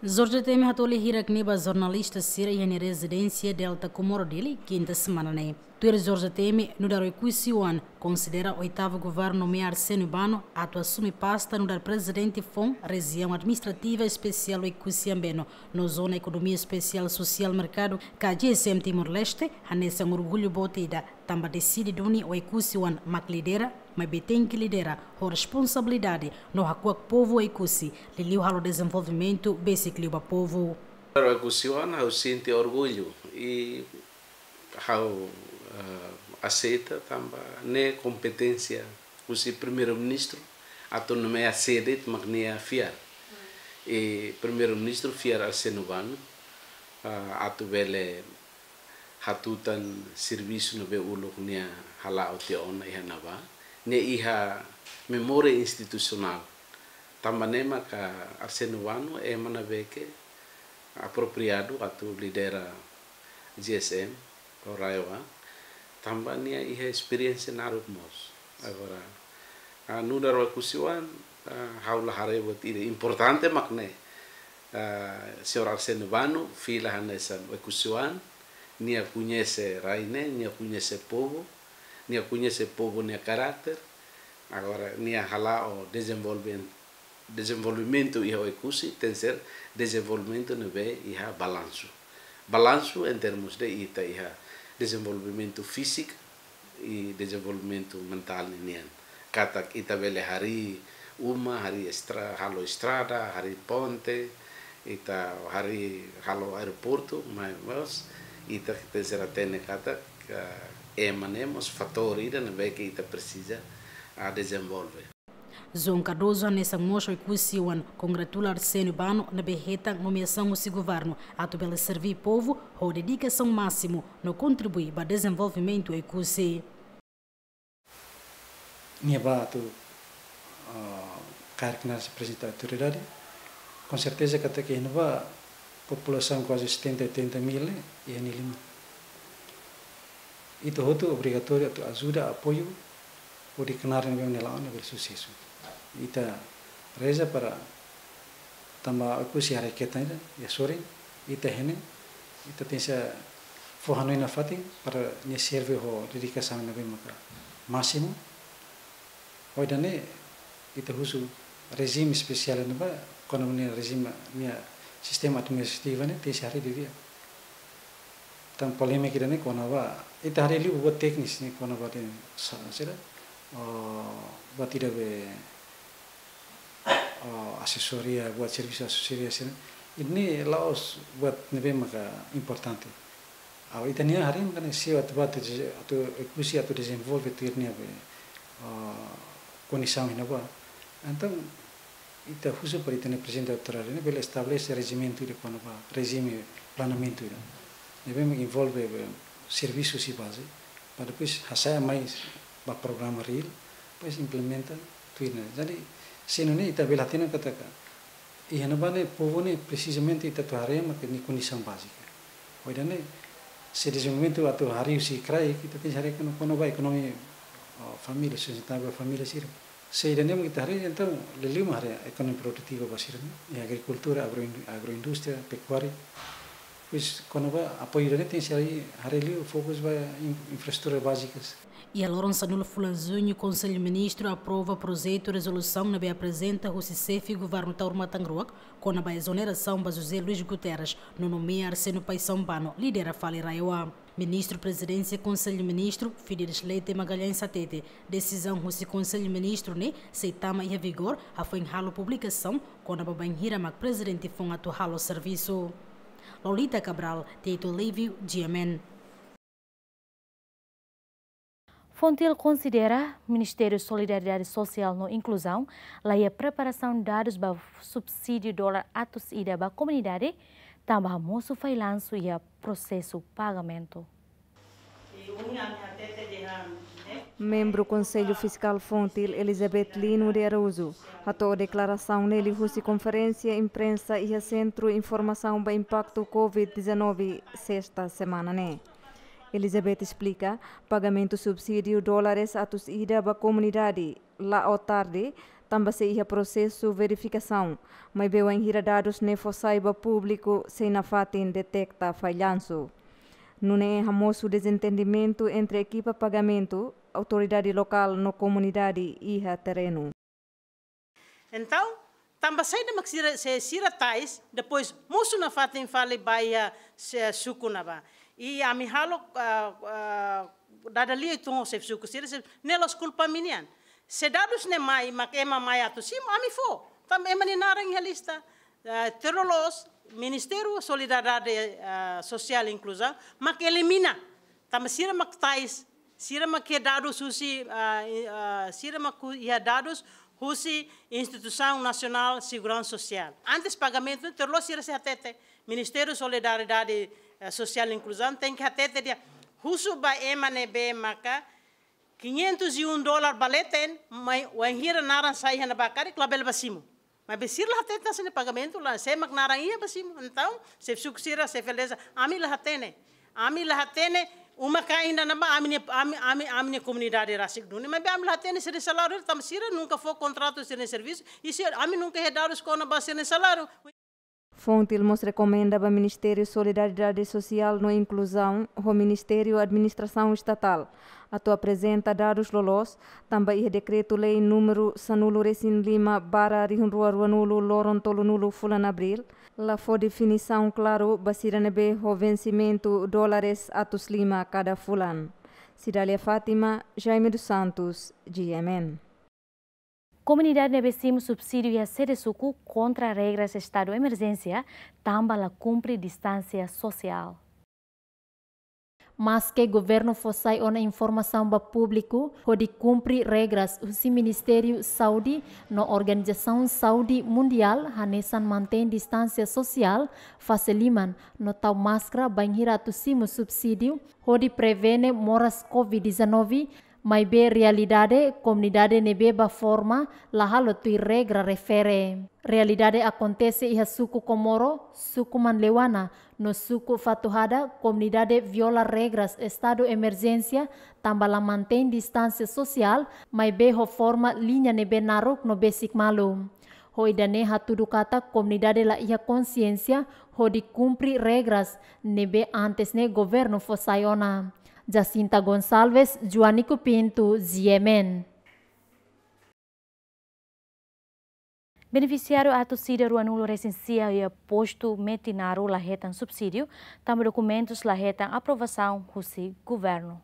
Jorge Temer hato'o lia hirak ne'e ba jornalista sira iha nia rezidénsia Delta Comoro Dili, kinta semana ne'e. Tuir Jorge Temer, nu'udar Oekusi-oan konsidera oitavu governu nomeia Arsénio Bano atu asume pasta nu'udar prezidente foun Rejiaun Administrativa Espesiál Oekusi Ambeno no Zona Ekonomia Espesiál Sosiál Merkadu ka G S M Timor-Leste, hanesan orgullu boot ida, tanba deside duni Oekusi-oan mak lidera, maibé tenke lidera ho responsabilidade no hako'ak povu Oekusi, liuliu halo dezenvolvimentu besik liu ba povu. Oekusi-oan ha'u sente orgullu i ha'u, eh, aseita tanba ne'e kompeténsia husi Primeiru-Ministru atu nomeia sé de'it mak nia fiar. I Primeiru-Ministru fiar Arsénio Bano, eh, atu bele hatutan servisu ne'ebé uluk nia hala'o tiha ona iha ne'ebá. Nia iha memória institusionál. Tanba ne'e maka Arsénio Bano ema ne'ebé ke apropriadu atu lidera G S M, ou RAEOA, tanba nia iha esperiénsia naruk mós. Agora, ah, nu'udar Oekusi-oan, ah, ha'u la haree buat ida, importante mak ne'e. Ah, señór Arsénio Bano fila hanesan Oekusi-oan, nia koñese rai ne'e, nia koñese povu, nia koñese povu nia karakter, agora nia hala'o dezenvolven-, dezenvolvimentu iha Oekusi, tenke ser dezenvolvimentu ne'ebé iha balansu. Balansu em termos de ita iha dezenvolvimentu fíziku i dezenvolvimentu mentál ninian. Katak ita bele harii uma, harii estra-, halo estrada, harii ponte, ita harii halo aeroportu, maibé mós ita tenke ser atente katak, eh, ema ne'e mós fatór ida ne'ebé ke ita presiza, ah, dezenvolve. João Cardoso hanesan mós Oekusi-oan kongratula Arsénio Bano ne'ebé hetan nomeasaun husi governu atu bele serví povu ho dedikasaun másimu no kontribui ba dezenvolvimentu Oekusi. Nia bá atu, ah, kaer knaar sei aprezenta autoridade. Com certeza katak iha ne'ebá populasaun kuaze setenta, oitenta mil ne'e iha nia liman. Ita hotu obrigatóriu atu ajuda, apoiu, hodi knaar ne'ebé nia la'o ne'e bele susesu. Ita reza para tanba Oekusi haree ketak ida, iha sorin, ita iha ne'e, ita tenke fó hanoin nafatin para nia serve ho dedikasaun ne'ebé maka másimu. Ho ida-ne'e, ita husu rejime espesiál ne'ebá, kona-ba nia rejime, nia sistema administrativu ne'e, tenke harii didi'ak. Tan polémika ida-ne'e kona-ba, ita harii liu buat teknis ne'e kona-ba ida-ne'e sa-, sira, oh, buat ida be, oh, asesoria, buat servisu asesoria sira. Ida-ne'e la'ós buat ne'ebé maka importante. Agora ita-nia harii maka ne'e sei atu bá atu, atu Oekusi atu dezenvolve tuir nia be, oh, kondisaun iha ne'ebá. Entaun, ita husu para ita-nia prezidente autoridade ne'e bele estabelese rejimentu ida kona-ba rejime planeamentu ida. Ne'ebé mak envolve, eh, servisu husi baze, para depois hasa'e mai ba programa reál, depois implementa tuir ne'e. Jadi, se nune'e ita bele hatene katak iha ne'ebá ne'e povu ne'e presizamente ita atu haree maka nia kondisaun bázika. Ho ida-ne'e, se dezenvolvimentu atu harii husi kraik, ita tenke harii kona-, kona-ba ekonomia, oh, família, sustentavel família sira. Se ida-ne'e mak ita harii, entaun liuliu mak harii ekonomia produtiva ba sira-ne'e, iha agrikultura, agroin-, agroindústria, pekuária. Depois, kona-ba apoiu ida-ne'e tenke harii, harii liu fokus ba in-, infraestrutura bázikas. Iha loron sanulu fulan Juñu, Konsellu Ministru aprova projetu rezolusaun ne'ebé aprezenta husi Xefe Governu Taur Matan Ruak kona-ba ezonerasaun ba José Luís Guterres no nomeia Arsénio Paixão Bano lidera fali RAEOA. Ministru Prezidénsia Konsellu Ministru, Fidelis Leite Magalhães hatete, desizaun husi Konsellu Ministru ne'e sei tama iha vigór hafoin halo publikasaun kona-ba bainhira mak prezidente foun atu halo servisu. Lolita Cabral, Tito Livio, G M N. FONGTIL konsidera Ministériu Solidariedade Sosiál no Inkluzaun la iha preparasaun dadus ba subsídiu dolar atus ida ba komunidade, tanba hamosu fallansu iha prosesu pagamentu. Membru Konsellu Fiskál FONGTIL, Elizabeth Lino de Araújo, hato'o deklarasaun ne'e liuhusi konferénsia imprensa iha Sentru Informasaun ba Impaktu COVID dezanove, sesta semana ne'e. Elizabeth esplika, pagamentu subsídiu dólares atus ida ba komunidade la'o tarde, tanba sei iha prosesu verifikasaun, maibé wainhira dadus ne'e fó sai ba públiku sei nafatin deteta fallansu. Nune'e hamosu dezentendimentu entre ekipa pagamentu, autoridade lokál no komunidade iha terrenu. Entaun, tanba saida mak sira, se sira tais, depois mosu nafatin fali ba iha, se, suku ne'ebá. I ami halo, ah, ah, dada lia uitoan ho xefe suku sira, se, ne'e la'ós kulpa ami-nian. Se dadus ne'e mai, mak ema mai atu simu, ami fó. Tanba ema nia naran iha lista. Ah, tuir loloos, Ministériu Solidariedade, ah, Sosiál Inkluzaun, mak elimina. Tanba sira mak tais, sira mak iha dadus husi, ah, i, ah, sira mak iha dadus husi Instituisaun Nasionál Seguransa Sosiál. Antes pagamentu, tuir loloos sira sei hatete. Ministériu Solidariedade, eh, Sosiál Inkluzaun tenke hatete dehan husu ba ema ne'ebé maka quinhentos e um dólar ba leten, mai wainhira naran sai iha ne'ebá karik labele bá simu. Maibé sira la hatete hanesan ne'e, pagamentu la, sé mak naran iha bá simu. Entaun, xefe suku sira, xefe aldeia, ami la hatene. Ami la hatene uma-kain ida-ne'ebá, ami-nia, ami, ami, ami-nia komunidade rasik duni. Maibé ami la hatene sira-nia saláriu, tanba sira nunka fó kontratu sira-nia servisu, i sira, ami nunka iha dadus kona-ba sira-nia saláriu. FONGTIL mós rekomenda ba Ministériu Solidariedade Sosiál no Inkluzaun ho Ministériu Administrasaun Estatál atu aprezenta dadus loloos, tanba iha Dekretu-Lei númeru sanulu-resin-lima barra rihun rua ruanulu loron tolunulu fulan Abríl, la fó definisaun klaru ba sira ne'ebé ho vensimentu dólares atus lima kada fulan. Cidália Fátima, Jaime dos Santos, G M N. Komunidade ne'ebé simu subsídiu iha sede suku kontra regras estadu emerjénsia, tanba la kumpre distánsia sosiál. Maske governu fó sai ona informasaun ba públiku hodi kumpre regras husi Ministériu Saúde no Organizasaun Saúde Mundiál, hanesan mantein distánsia sosiál, fase liman no tau máskara bainhira atu simu subsídiu hodi prevene moras COVID dezanove, maibé realidade, komunidade ne'ebé bá forma la halo tuir regra refere. Realidade akontese iha suku Comoro, suku Manleuana, no suku Fatuhada, komunidade viola regras estadu emerjénsia, tanba la mantein distánsia sosiál, maibé ho forma liña ne'ebé naruk no besik malu. Ho ida-ne'e hatudu katak komunidade la iha konsiénsia hodi kumpre regras ne'ebé antes ne'e governu fó sai ona. Jacinta Gonçalves, Joanico Pinto, G M N. Benefisiáriu atus ida ruanulu-resin-sia iha postu Metinaro la hetan subsídiu, tanba dokumentus la hetan aprovasaun husi governu.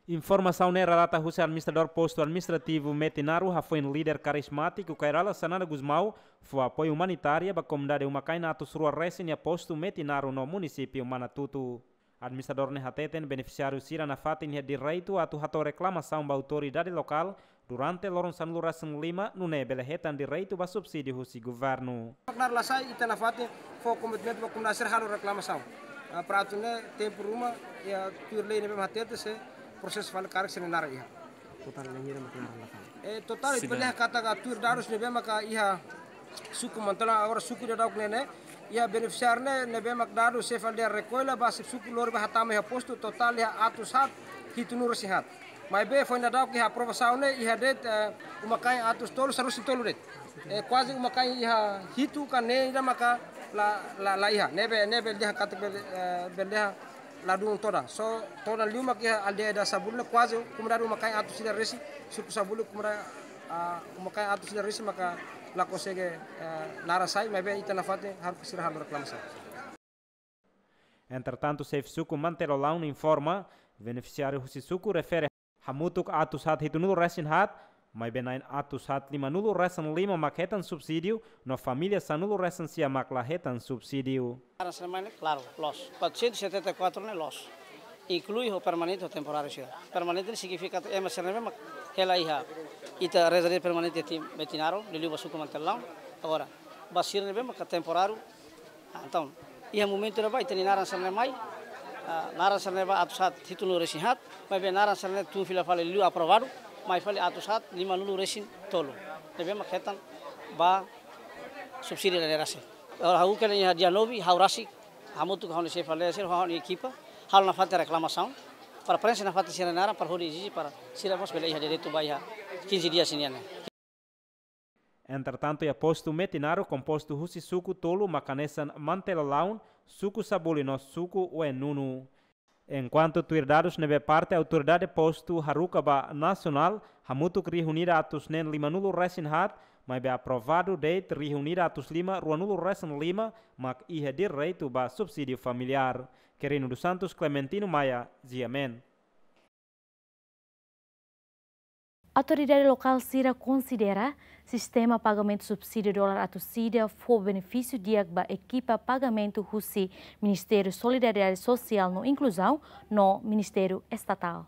Informasaun ne'e relata husi administradór postu administrativu Metinaro, hafoin líder karizmátiku Kay Rala Xanana Gusmão fó apoiu umanitária ba komunidade uma-kain atus rua resin iha postu Metinaro no munisípiu Manatuto. Administradór ne'e hateten benefisiáriu sira nafatin iha direitu atu hato'o reklamasaun ba autoridade lokál durante loron sanulu-resin-lima, nune'e bele hetan direitu ba subsídiu husi governu. Mak naran la sai, ita nafatin fó komitmentu ba komunidade sira halo reklamasaun. Ah, para atu nune'e tempu ruma, iha tuir lei ne'ebé mak hatete sei prosesu fali karik sira-nia naran iha. Totál ne'e hira mak naran la sai? Eh, totál ita bele dehan katak tuir dadus ne'ebé maka iha suku Mantola, agora suku daudauk ne'e ne'e, iha benefisiáriu ne'e, ne'ebé mak dadus sei fali dehan rekolla ba xefe suku lori ba hatama iha postu, totál iha atus haat hitunulu-resin-haat. Maibé foin daudauk iha aprovasaun ne'e iha de'it, eh, uma-kain atus tolu sanulu-resin-tolu de'it. Eh, kuaze uma-kain iha hitu ka neen ida maka la, la, la iha. Ne'ebé, ne'ebé bele dehan katak bele, eh, bele dehan ladún todan. Só todan liu mak iha aldeia ida Sabuli ne'e kuaze komunidade uma-kain atus ida resin, suku Sabuli komunidade, ah, uma-kain atus ida resin maka la konsege, eh, naran sai, maibé ita nafatin haruka sira halo reklamasaun. Entretantu, xefe suku Mantelolau informa, benefisiáriu husi suku refere hamutuk atus haat hitunulu-resin-haat, Maibé na'in atus haat lima-nulu resin lima mak hetan subsídiu, no família sanulu resin sia mak la hetan subsídiu. Naran sira-ne'e, klaru, loos. Quatrocentos e setenta e quatro ne'e loos. Inklui ho permanente ho temporáriu sira. Permanente ne'e signifika ema sira ne'ebé mak hela iha ita rede permanente iha Metinaro, liuliu ba suku Mantellaun. Agora, ba sira ne'ebé mak temporáriu, ah, entaun, iha momentu ne'ebá ita-nia naran sira-ne'e mai, ah, naran sira-ne'e ba atus haat hitunulu resin haat, maibé naran sira-ne'e tun fila fali liu aprovadu, mai fali atus haat lima-nulu resin tolu. Ne'ebé mak hetan ba subsídiu dadeer-sa'e. Ha'u kena iha dia nove, ha'u rasik, hamutuk ho ha'u-nia xefe aldeia sira, ho ha'u-nia ekipa, halo nafatin reklamasaun, para preenxe nafatin sira-nia naran, para hodi ezije para sira mós bele iha direitu ba iha quinze dias nian ne'e. Entretantu, iha postu Metinaro, kompostu husi suku tolu mak hanesan Mantellaun, suku Sabuli no suku Oenunu. Enkuantu tuir dadus ne'ebé parte autoridade postu haruka ba nasionál, hamutuk rihun ida atus neen lima-nulu resin haat, maibé aprovadu de'it rihun ida atus lima ruanulu resin lima, mak iha direitu ba subsídiu familiár. Quirino dos Santos, Clementino Maia, G M N. Autoridade lokál sira konsidera sistema pagamentu subsídiu dolar atus ida fó benefísiu di'ak ba ekipa pagamentu husi Ministériu Solidariedade Sosiál no Inkluzaun no Ministériu Estatál.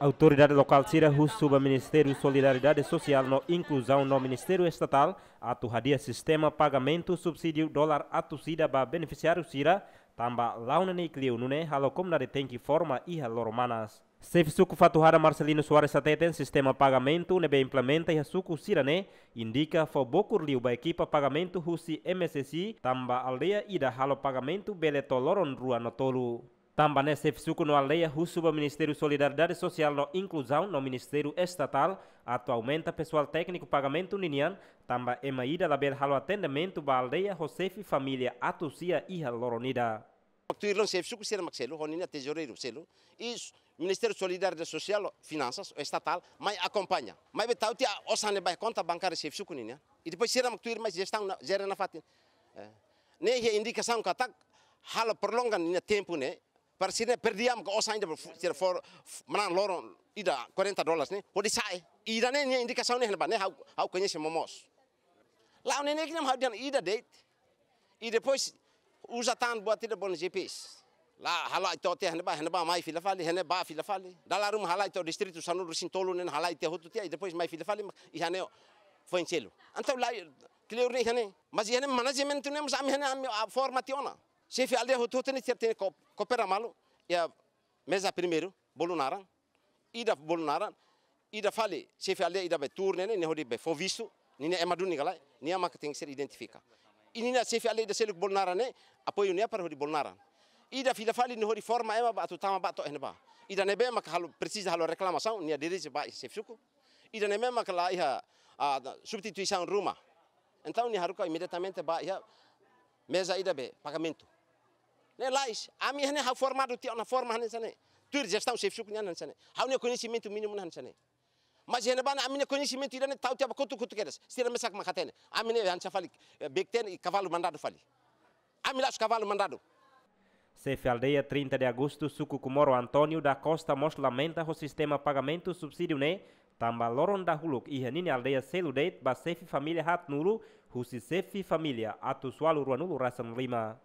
Autoridade lokál sira husu ba Ministériu Solidariedade Sosiál no Inkluzaun no Ministériu Estatál atu hadi'a sistema pagamentu subsídiu dolar atus ida ba benefisiáriu sira, tanba la'o neineik liu nune'e halo komunidade tenke forma iha loron manas. Xefe suku Fatuhada Marcelino Soares hateten sistema pagamentu ne'ebé implementa iha suku sira-ne'e indika fó bokur liu ba ekipa pagamentu husi M S S I, tanba aldeia ida halo pagamentu bele to'o loron rua no tolu. Tanba ne'e xefe suku no aldeia husu ba Ministériu Solidariedade Sosiál no Inkluzaun no Ministériu Estatál atu aumenta pesoál tékniku pagamentu ninian, tanba ema ida labele halo atendimentu ba aldeia ho xefe família atus sia iha loron ida. Tuir loron xefe suku sira mak selu, ho ninia tezoureiru selu, i Ministériu Solidariedade Sosiál, Finansas, Estatál, mai akompaña. Maibé tau tiha osan ne'e ba konta bankária xefe suku ninian. I depois sira mak tuir mai jestaun na, jere nafatin. Eh. Ne'e iha indikasaun katak halo prolonga ninia tempu ne'e, para sira perdiam ka osan ida fu-, sira for, f-, manán loron ida quarenta dólares ne'e, hodi sa'e. Ida-ne'e nia indikasaun ne'e iha ne'ebá, ne'e ha'u, ha'u koñese momoos. La'o neineik ne'e mak ha'u dehan ida de'it. I depois uza tan buat ida bolu G P S. La halai to'o tiha iha ne'ebá, iha ne'ebá mai fila fali, iha ne'ebá fila fali. Dala ruma halai to'o distritu sanulu resin tolu ne'e halai tiha hotu tiha, i depois mai fila fali, mak iha ne'e foin selu. Entaun la, kleur ne'e iha ne'e. Mas iha ne'e manajementu ne'e, mas ami iha ne'e ami, ah, forma tiha ona. Xefe aldeia hotu-hotu ne'e sira tenke ko-, koopera malu, iha meza primeiru, bolu naran, ida bolu naran, ida fali, xefe aldeia ida be tuur ne'e, ne'e hodi be fó vistu, ninia ema duni ka lae, nia mak tenke ser identifika. I ninia xefe aldeia ida seluk bolu naran ne'e, apoiu nia para hodi bolu naran. Ida fila fali ne'e hodi forma ema ba atu tama ba to'o iha ne'ebá. Ida ne'ebé mak halo, presiza halo reklamasaun, nia dirije ba xefe suku. Ida ne'ebé mak la iha, ah, substituisaun ruma. Entaun nia haruka imediatamente ba iha meza ida be pagamentu. Ne'e lais, ami iha ne'e ha'u formadu tiha ona forma hanesan ne'e. Tuir jestaun xefe suku nian hanesan ne'e. Ha'u-nia koñesimentu mínimu ne'e hanesan ne'e. Mas iha ne'ebá ne'e ami-nia koñesimentu ida-ne'e tau tiha ba kotuk-kotuk kedas. Sira mesak mak hatene. Ami ne'e hanesan fali, eh, bekten i kavalu mandadu fali. Ami la'ós kavalu mandadu. Xefe aldeia trinta de Agosto, suku Comoro, António da Costa mós lamenta ho sistema pagamentu subsídiu ne'e, tanba loron dahuluk iha ninia aldeia selu de'it ba xefe família haatnulu husi xefe família atus ualu ruanulu resin lima.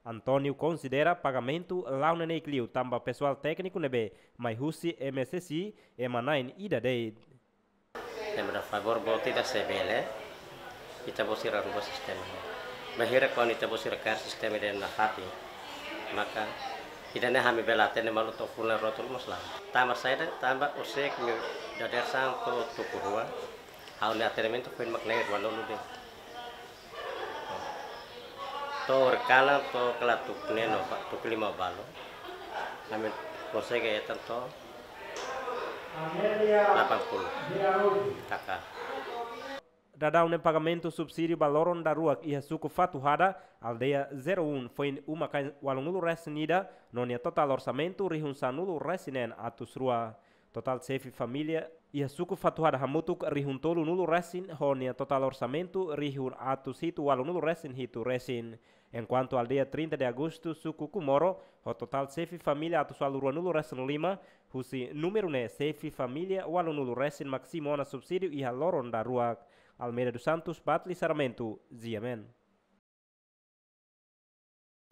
António konsidera pagamentu la'o neineik liu tanba pesoál tékniku ne'ebé mai husi M S S I ema na'in ida de'it. Ema ida favór boot ida se bele, ita-boot sira rubah sistema. Bainhira kuandu ita-boot sira kaer sistema ida nafatin, maka ida-ne'e ami bele atende malu to'o fulan rua tolu mós la'o. Tanba saida, tanba horiseik ami dadeer-saan to'o tuku rua, ha'u-nia atendimentu foin mak na'in ruanulu de'it. To'o horikalan to'o kala tuku neen no ba, tuku lima balu. Ami konsege hetan to'o delapan puluh K K. Daudaun ne'e pagamentu subsídiu ba loron daruak iha suku Fatuhada, aldeia zero um, foin uma-kain ualunulu resin ida, no nia totál orsamentu rihun sanulu resin neen atus rua. Totál xefe família iha suku Fatuhada hamutuk rihun tolunulu resin, ho nia totál orsamentu rihun atus hitu ualunulu resin hitu resin. Enkuantu aldeia trinta de Agosto, suku Comoro, ho totál xefe família atus ualu ruanulu resin lima, husi númeru ne'e xefe família ualunulu resin maksima ona subsídiu iha loron daruak. Almeida dos Santos, Batli Sarmento, G M N.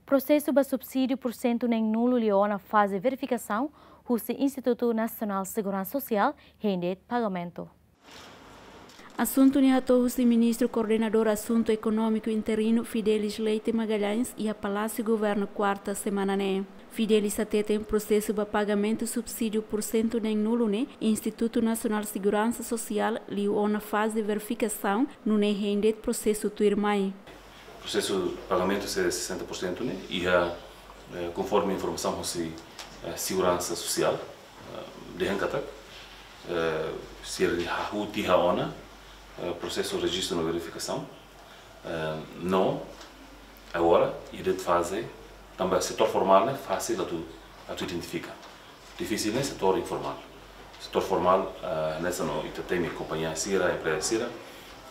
Prosesu ba subsídiu pursentu neen-nulu liu ona faze verifikasaun husi Institutu Nasionál Seguransa Sosiál hein de'it pagamentu. Asuntu ne'e hato'o husi Ministru Koordenadór Asuntu Ekonómiku interinu Fidelis Leite Magalhães iha Palásiu Governu, kuarta semana ne'e. Fidelis hateten prosesu ba pagamentu subsídiu pursentu neen-nulu ne'e Institutu Nasionál Seguransa Sosiál liu ona faze verifikasaun, nune'e hein de'it prosesu tuirmai. Prosesu pagamentu sei sesenta por cento ne'e iha, eh, konforme informasaun husi, eh, Seguransa Sosiál, eh, dehan katak, eh, sira hahú tiha ona, eh, prosesu rejistu no verifikasaun, eh, no agora iha de'it faze, tanba setór formál ne'e fasil atu, atu identifika. Difisil ne'e setór informál. Setór formál, eh, hanesan ita temi kompañia sira, empreza sira,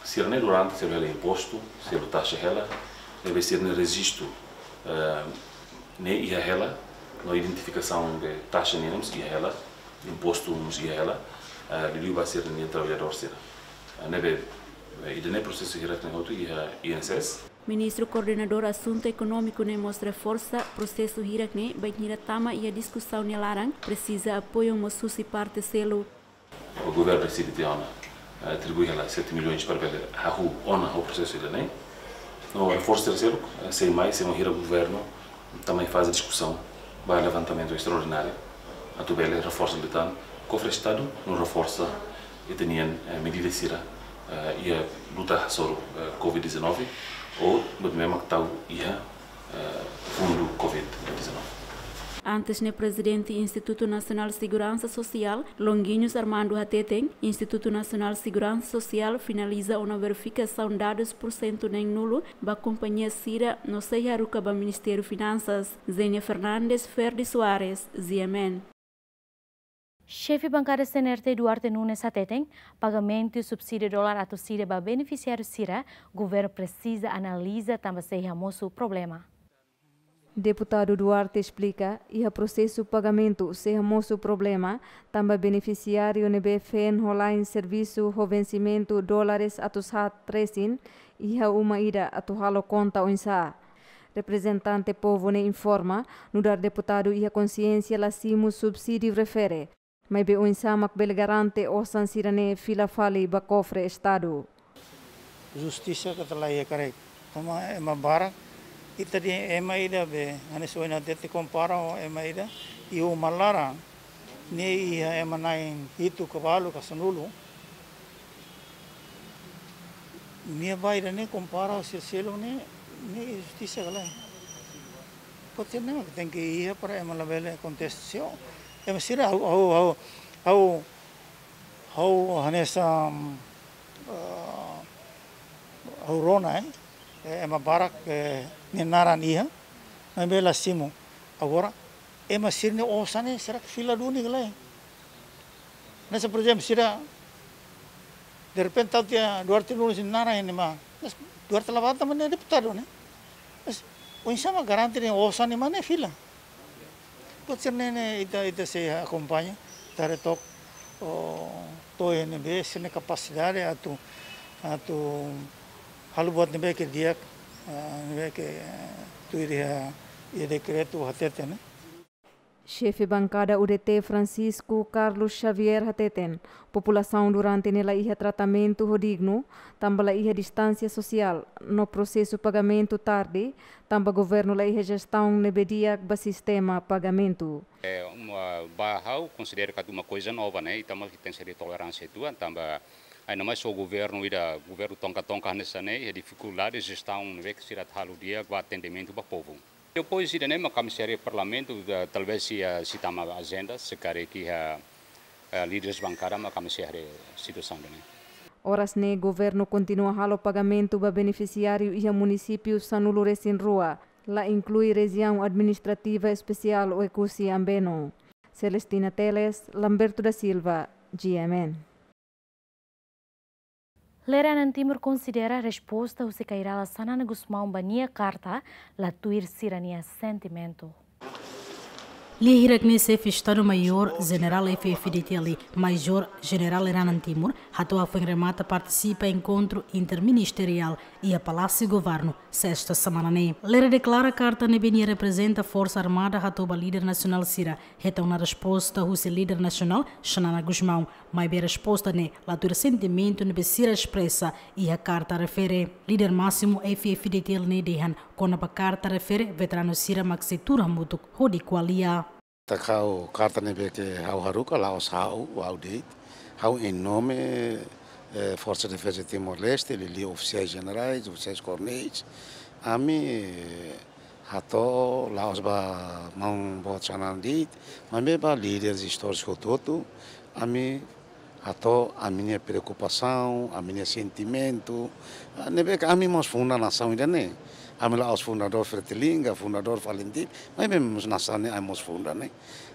sira-ne'e durante sira hela impostu, sira taxa hela, ne'ebé sira-nia rejistu, eh, ne'e iha hela, no identifikasaun de taxa ne'e mós iha hela, impostu mós iha hela, eh, liuliu ba sira-nia traballadór sira. Eh, ne'ebé, eh, ida-ne'e prosesu hirak ne'e hotu iha I N S S. Ministru Koordenadór Asuntu Ekonómiku ne'e mós reforsa prosesu hirak ne'e bainhira tama iha diskusaun nia laran, presiza apoiu mós husi parte seluk. O governu deside tiha ona, eh, atribui hela sete milhões para bele hahú ona ho prosesu ida-ne'e. No reforsa terseru, eh, sei mai, sei mai hira governu, tama mai faze diskusaun ba levantamentu estraordináriu, atu bele reforsa liután, kofre Estadu, no reforsa ita-nian, eh, medida sira, eh, iha luta hasoru, eh, covid dezanove, ou, bot memang tau iha, eh, fundu covid dezanove. Antes ne'e Prezidente Institutu Nasionál Seguransa Sosiál, Longuinhos Armando hateten, Institutu Nasionál Seguransa Sosiál finaliza ona verifikasaun dadus pursentu neen-nulu ba kompañia sira no sei haruka ba Ministériu Finansas. Zenia Fernandes, Ferdi Soares, G M N. Xefe Bankada C N R T Duarte Nunes hateten, pagamentu subsídiu dolar atus ida ba benefisiáriu sira, governu presiza analiza tanba sei hamosu problema. Deputadu Duarte esplika, iha prosesu pagamentu sei hamosu problema, tanba benefisiáriu ne'ebé feen ho la'en servisu ho vensimentu dólares atus haat resin, iha uma ida atu halo konta oinsá. Reprezentante povu ne'e informa, nu'udar deputadu iha konsiénsia la simu subsídiu refere. Maibé oinsá mak bele garante osan sira-ne'e fila fali ba kofre Estadu. Justisa katak la iha karik. Tanba ema barak, ita dehan ema ida be, hanesan ohin hatete kompara ho ema ida, iha uma laran, nia iha ema na'in hitu ka balu ka sanulu. Nia ba ida-ne'e kompara ho sira seluk ne'e, ne'e justisa ka lae. Pode ser ne'e mak tenke iha para ema labele kontesta. Se ema sira ha'u, ha'u, ha'u, ha'u, ha'u hanesan, eh, ha'u rona, eh, eh, ema barak, eh, nia naran iha, maibé la simu. Agora, ema sira-nia osan ne'e, será que fila duni ka lae? Hanesan, por ezemplu, sira, derrepente, tau tiha Duarte Nunes nia naran iha ne'ebá. Mas Duarte la bá tanba nia deputadu, ne'e? Mas oinsá mak garante nia osan ne'e mak ne'e fila? Pode ser ne'e, ne'e ita, ita sei akompaña, ita haree took, o, to'o iha ne'ebé sira-nia kapasidade atu, atu halo buat ne'ebé ke di'ak, ah, ne'ebé ke, eh, tuir iha, iha dekretu hatete, ne'e? Xefe Bankada U D T Francisco Carlos Xavier hateten, populasaun durante ne'e la iha tratamentu ho dignu, tanba la iha distánsia sosiál, no prosesu pagamentu tarde, tanba governu la iha jestaun ne'ebé di'ak ba sistema pagamentu. Eh, uma, ba ha'u konsidera katak uma koiza nova, ne'e, ita mós tenke ser toleránsia uitoan, tanba ainda mais ho governu ida, governu tonka-tonka hanesan ne'e, iha difikuldade jestaun ne'ebé ke sira atu halo di'ak ba atendimentu ba povu. Depois ida-ne'e mak ami sei haree Parlamentu, eh, talvés sei, eh, sei tama ajenda, se karik iha, eh, líderes bankada mak ami sei haree situasaun ida-ne'e. Oras ne'e governu kontinua halo pagamentu ba benefisiáriu iha munisípiu sanulu resin rua, la inklui Rejiaun Administrativa Espesiál Oekusi Ambeno. Celestina Teles, Lamberto da Silva, G M N. Lere Anan Timur konsidera resposta husi Kay Rala Xanana Gusmão ba nia karta la tuir sira-nia sentimentu. Lia hirak ne'e Xefe Estadu Maiór Jenerál F-FDTL, Majór Jenerál Lere Anan Timur, hato'o foin remata partisipa enkontru interministeriál iha Palásiu Governu, sesta semana ne'e. Lere deklara karta ne'ebé nia reprezenta Forsa Armada hato'o ba líder nasionál sira, hetan ona resposta husi líder nasionál Xanana Gusmão. Maibé resposta ne'e la tuir sentimentu ne'ebé sira espresa iha karta refere. Líder másimu F-FDTL ne'e dehan kona-ba karta refere veteranu sira mak sei tuur hamutuk hodi ko'alia. Tanba ha'u karta ne'ebé ke ha'u haruka la'ós ha'u, ha'u de'it. Ha'u em nome, eh, Forsa Defeza Timor-Leste, liuliu ofisiais jenerais, ofisiais koronéis. Ami, eh, hato'o la'ós ba maun boot Xanana de'it, maibé ba líderes istórikus hotu-hotu, ami hato'o ami-nia preokupasaun, ami-nia sentimentu. Ah, ne'ebé ke ami mós funda nasaun ida-ne'e. Ami la'ós fundadór Fretilin ka, fundadór Falintil, maibé mós nasaun ne'e ami mós funda ne'e.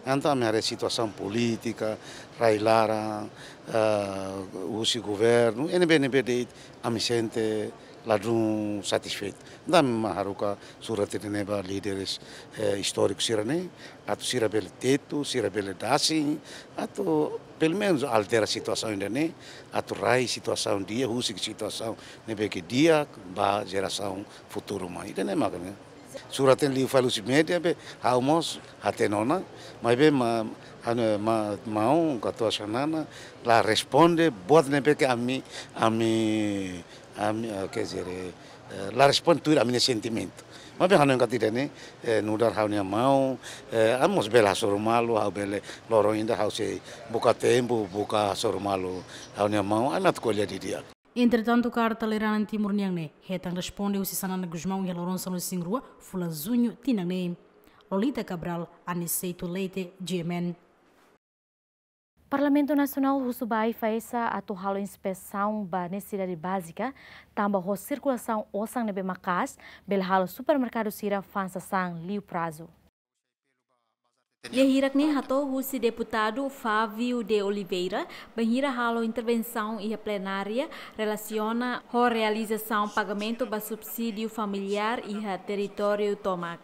Entaun ami haree situasaun polítika, rai-laran, ah, husi governu, ne'ebé-ne'ebé de'it, ami sente ladún satisfeitu. Entaun ami mak haruka surat ida-ne'e ba líderes, eh, istóriku sira-ne'e, atu sira bele tetu, sira bele dasin, atu pelumenus altera situasaun ida-ne'e, atu rai situasaun di'ak, husik situasaun ne'ebé ke di'ak ba jerasaun futuru mai. Ida-ne'e mak ne'e. Surat ne'e liu fali husi média be, ha'u mós hatene ona, maibé ma, anu, ma, maun Katuas Xanana la responde buat ne'ebé ke ami, ami, ami, eh, quer dizer, eh, la responde tuir ami-nia sentimentu. Maibé ha'u hanoin katak ida-ne'e, eh, nu'udar ha'u-nia maun, eh, ami mós bele hasoru malu, ha'u bele loron ida ha'u sei buka tempu, buka hasoru malu ha'u-nia maun, ami atu ko'alia didi'ak. Entretantu, karta Lere Anan Timur nian ne'e hetan responde husi Xanana Gusmão iha loron sanulu-resin-rua, fulan Juñu tinan ne'e. Lolita Cabral, Aniceto Leite, G M N. Parlamentu Nasionál husu ba AIFAESA atu halo inspesaun ba nesesidade bázika, tanba ho sirkulasaun osan ne'ebé maka'as, bele halo supermerkadu sira fa'an sasán liu prazu. Lia hirak-ne'e hato'o husi deputadu Fávio de Oliveira, bainhira halo intervensaun iha plenária relasiona ho realizasaun pagamentu ba subsídiu familiár iha territóriu tomak.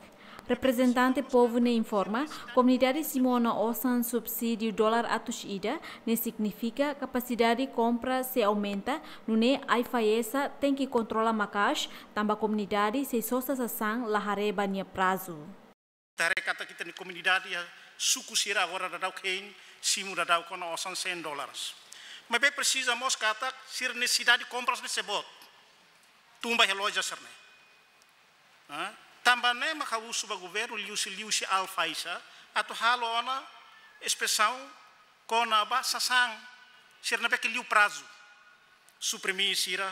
Reprezentante povu ne'e informa, komunidade simu ona osan subsídiu dolar atus ida, ne'e signifika kapasidade kompra sei aumenta, nune'e AIFAESA tenke kontrola maka'as, tanba komunidade sei sosa sasán la haree ba nia prazu. Ita haree katak ita-nia komunidade iha suku sira agora daudaun hein simu daudaun kona osan cem dólares. Maibé presiza mós katak sira nesesidade kompras ne'e sei boot. Tun ba iha loja sira-ne'e. Ah, tanba ne'e maka husu ba governu liuhusi, liuhusi AIFAESA atu halo ona inspesaun kona-ba sasán sira ne'ebé ke liu prazu. Suprimi sira,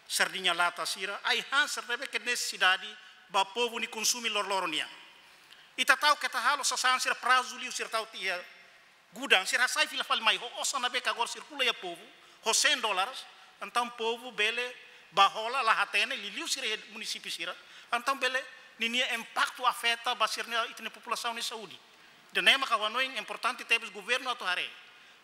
sardiña lata sira, ai-han sira ne'ebé ke nesesidade ba povu nia konsumu loroloron nian. Ita ta'uk ke ita halo sasán sira prazu liu sira ta'uk tiha gudang sira hasai fila fali mai ho osan ne'ebé ke agora sirkula iha povu, ho cem dólares, entaun povu bele bá hola la hatene liuliu sira iha munisípiu sira, entaun bele ninia impaktu afeta ba sira-nia, ita-nia populasaun nia saúde. Ida-ne'e maka ha'u hanoin importante tebes governu atu haree.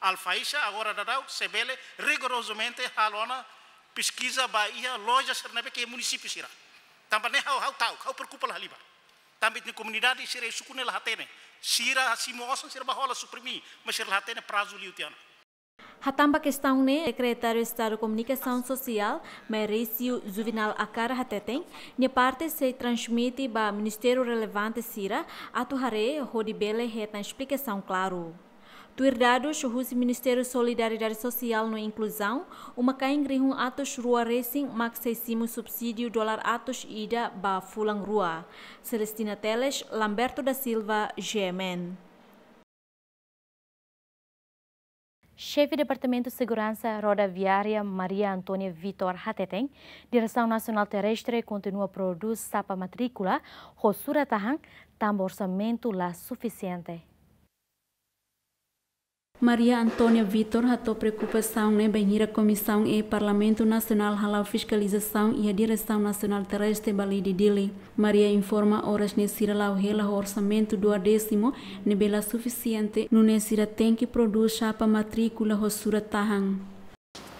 AIFAESA agora daudaun sei bele rigorozamente halo ona peskiza ba iha loja sira ne'ebé ke munisípiu sira. Tanba ne'e ha'u, ha'u ta'uk, ha'u preokupa la halimar. Tanba ita-nia komunidade sira iha suku ne'e la hatene. Sira simu osan sira bá hola suprimi, mas sira la hatene prazu liu tiha ona. Hatán ba kestaun ne'e, Sekretáriu Estadu Komunikasaun Sosiál, Maurício Juvinal Akar hateten, nia parte sei transmite ba ministériu relevante sira atu haree hodi bele hetan esplikasaun klaru. Tuir dadus husi Ministériu Solidariedade Sosiál no Inkluzaun, uma-kain rihun atus rua resin mak sei simu subsídiu dolar atus ida ba fulan rua. Celestina Teles, Lamberto da Silva, G M N. Xefe Departamentu Seguransa Rodoviária Maria Antónia Vitor hateten, Diresaun Nasionál Terrestre kontinua prodús sapa matríkula ho surat-tahan, tanba orsamentu la sufisiente. Maria Antónia Vitor hato'o preokupasaun ne'e bainhira Komisaun E Parlamentu Nasionál hala'o fiskalizasaun iha Diresaun Nasionál Terrestre ba lei di Dili. Maria informa oras ne'e sira la'o hela ho orsamentu duodésimu ne'ebé la sufisiente, nune'e sira tenke prodús xapa matríkula ho surat tahan.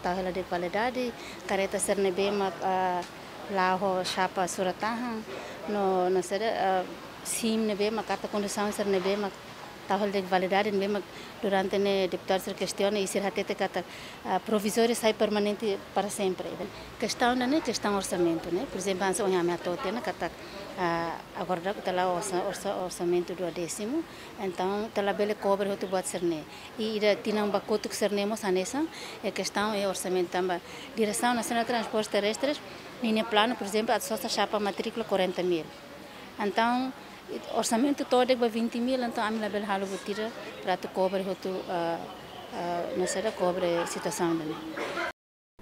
Tau hela de'it validade, kareta sira ne'ebé mak, ah, la'o ho xapa surat tahan, no, no sira, ah, sim ne'ebé mak, karta kondusaun sira ne'ebé mak tau hela de'it validade ne'ebé mak durante ne'e deputadu sira kestiona i sira hatete katak, ah, provizóriu sai permanente para sempre. Kestaun ida-ne'e kestaun orsamentu, ne'e. Por ezemplu, hanesan ohin ami hato'o tiha ona katak, ah, agora daudaun ita la'o orsa-, orsa-, orsamentu duodésimu, entaun ita labele kobre hotu buat sira-ne'e. I ida tinan ba kotuk sira-ne'e mós hanesan, e kestaun e orsamentu tanba Diresaun Nasionál Transportes Terrestres ninia planu, por ezemplu, atu sosa xapa matríkula quarenta mil. Entaun, orsamentu to'o de'it ba vinte mil, entaun ami labele halo buat ida para atu kobre hotu, ah, ah, no sira kobre situasaun ida-ne'e.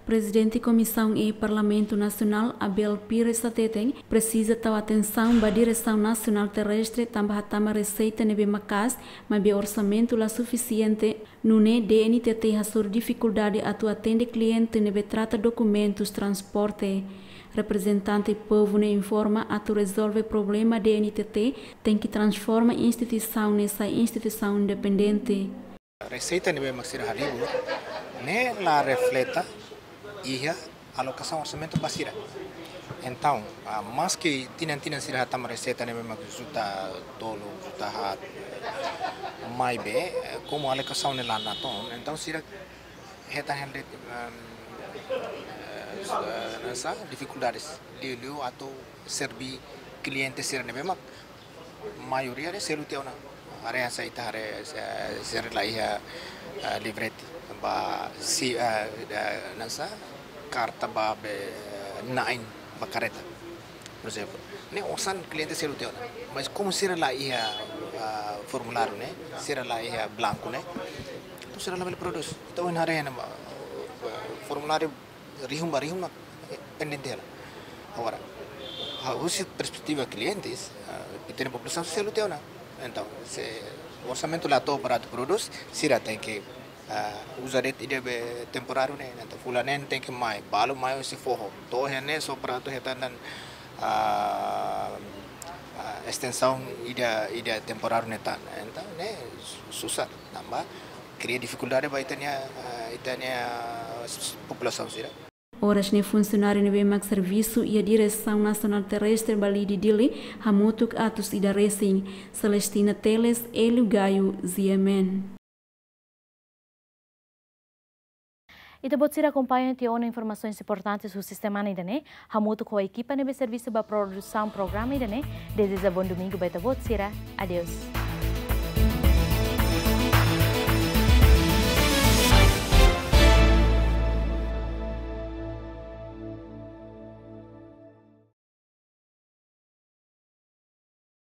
Prezidente Komisaun E Parlamentu Nasionál, Abel Pires hateten, presiza tau atensaun ba Diresaun Nasionál Terrestre tanba hatama reseita ne'ebé maka'as, maibé orsamentu la sufisiente, nune'e D N T T hasoru difikuldade atu atende kliente ne'ebé trata dokumentus transporte. Reprezentante povu ne'e informa atu rezolve problema D N T T tenke transforma instituisaun ne'e sai instituisaun independente. Reseita ne'ebé mak sira halibur ne'e la refleta iha alokasaun orsamentu ba sira. Entaun, ah, maski tinan-tinan sira hatama reseita ne'ebé mak juta tolu, juta haat, maibé, eh, komu alokasaun ne'e la natoon, entaun sira hetan hela de'it, ehm, eh, hanesan difikuldades liuliu atu serve kliente sira ne'ebé mak maioria de'it selu tiha ona. Haree hanesan ita haree, eh, sira la iha, eh, livrete ba si, eh, eh, hanesan karta ba be, eh, na'in ba kareta, por ezemplu. Ne'e osan kliente selu tiha ona. Mas komu sira la iha, eh, formuláriu ne'e, sira la iha blanku ne'e, entaun sira labele prodús. Entaun, haree ona, eh, formuláriu rihun ba rihun mak pendente hela. Agora, ah, husi perspetiva klientes, ah, ita-nia populasaun selu tiha ona. Entaun, se orsamentu la to'o para atu prodús, sira tenke, ah, uza de'it ida be temporáriu ne'e. Entaun, fulan neen tenke mai, balu mai husi foho. To'o iha ne'e só para atu hetan tan, ah, ah, estensaun ida, ida temporáriu ne'e tan. Entaun, ne'e susar, tanba kria difikuldade ba ita-nia, ah, ita-nia, ah, s-, s-, populasaun sira. Oras ne'e funsionáriu ne'ebé mak servisu iha Diresaun Nasionál Terrestre ba lei di Dili hamutuk atus ida resin. Celestina Teles, Hélio Gaio, G M N. Ita-boot sira akompaña tiha ona informasoens importantes husi semana ida-ne'e, hamutuk ho ekipa ne'ebé servisu ba produsaun programa ida-ne'e, dezeja bom domingo ba ita-boot sira. Adeus.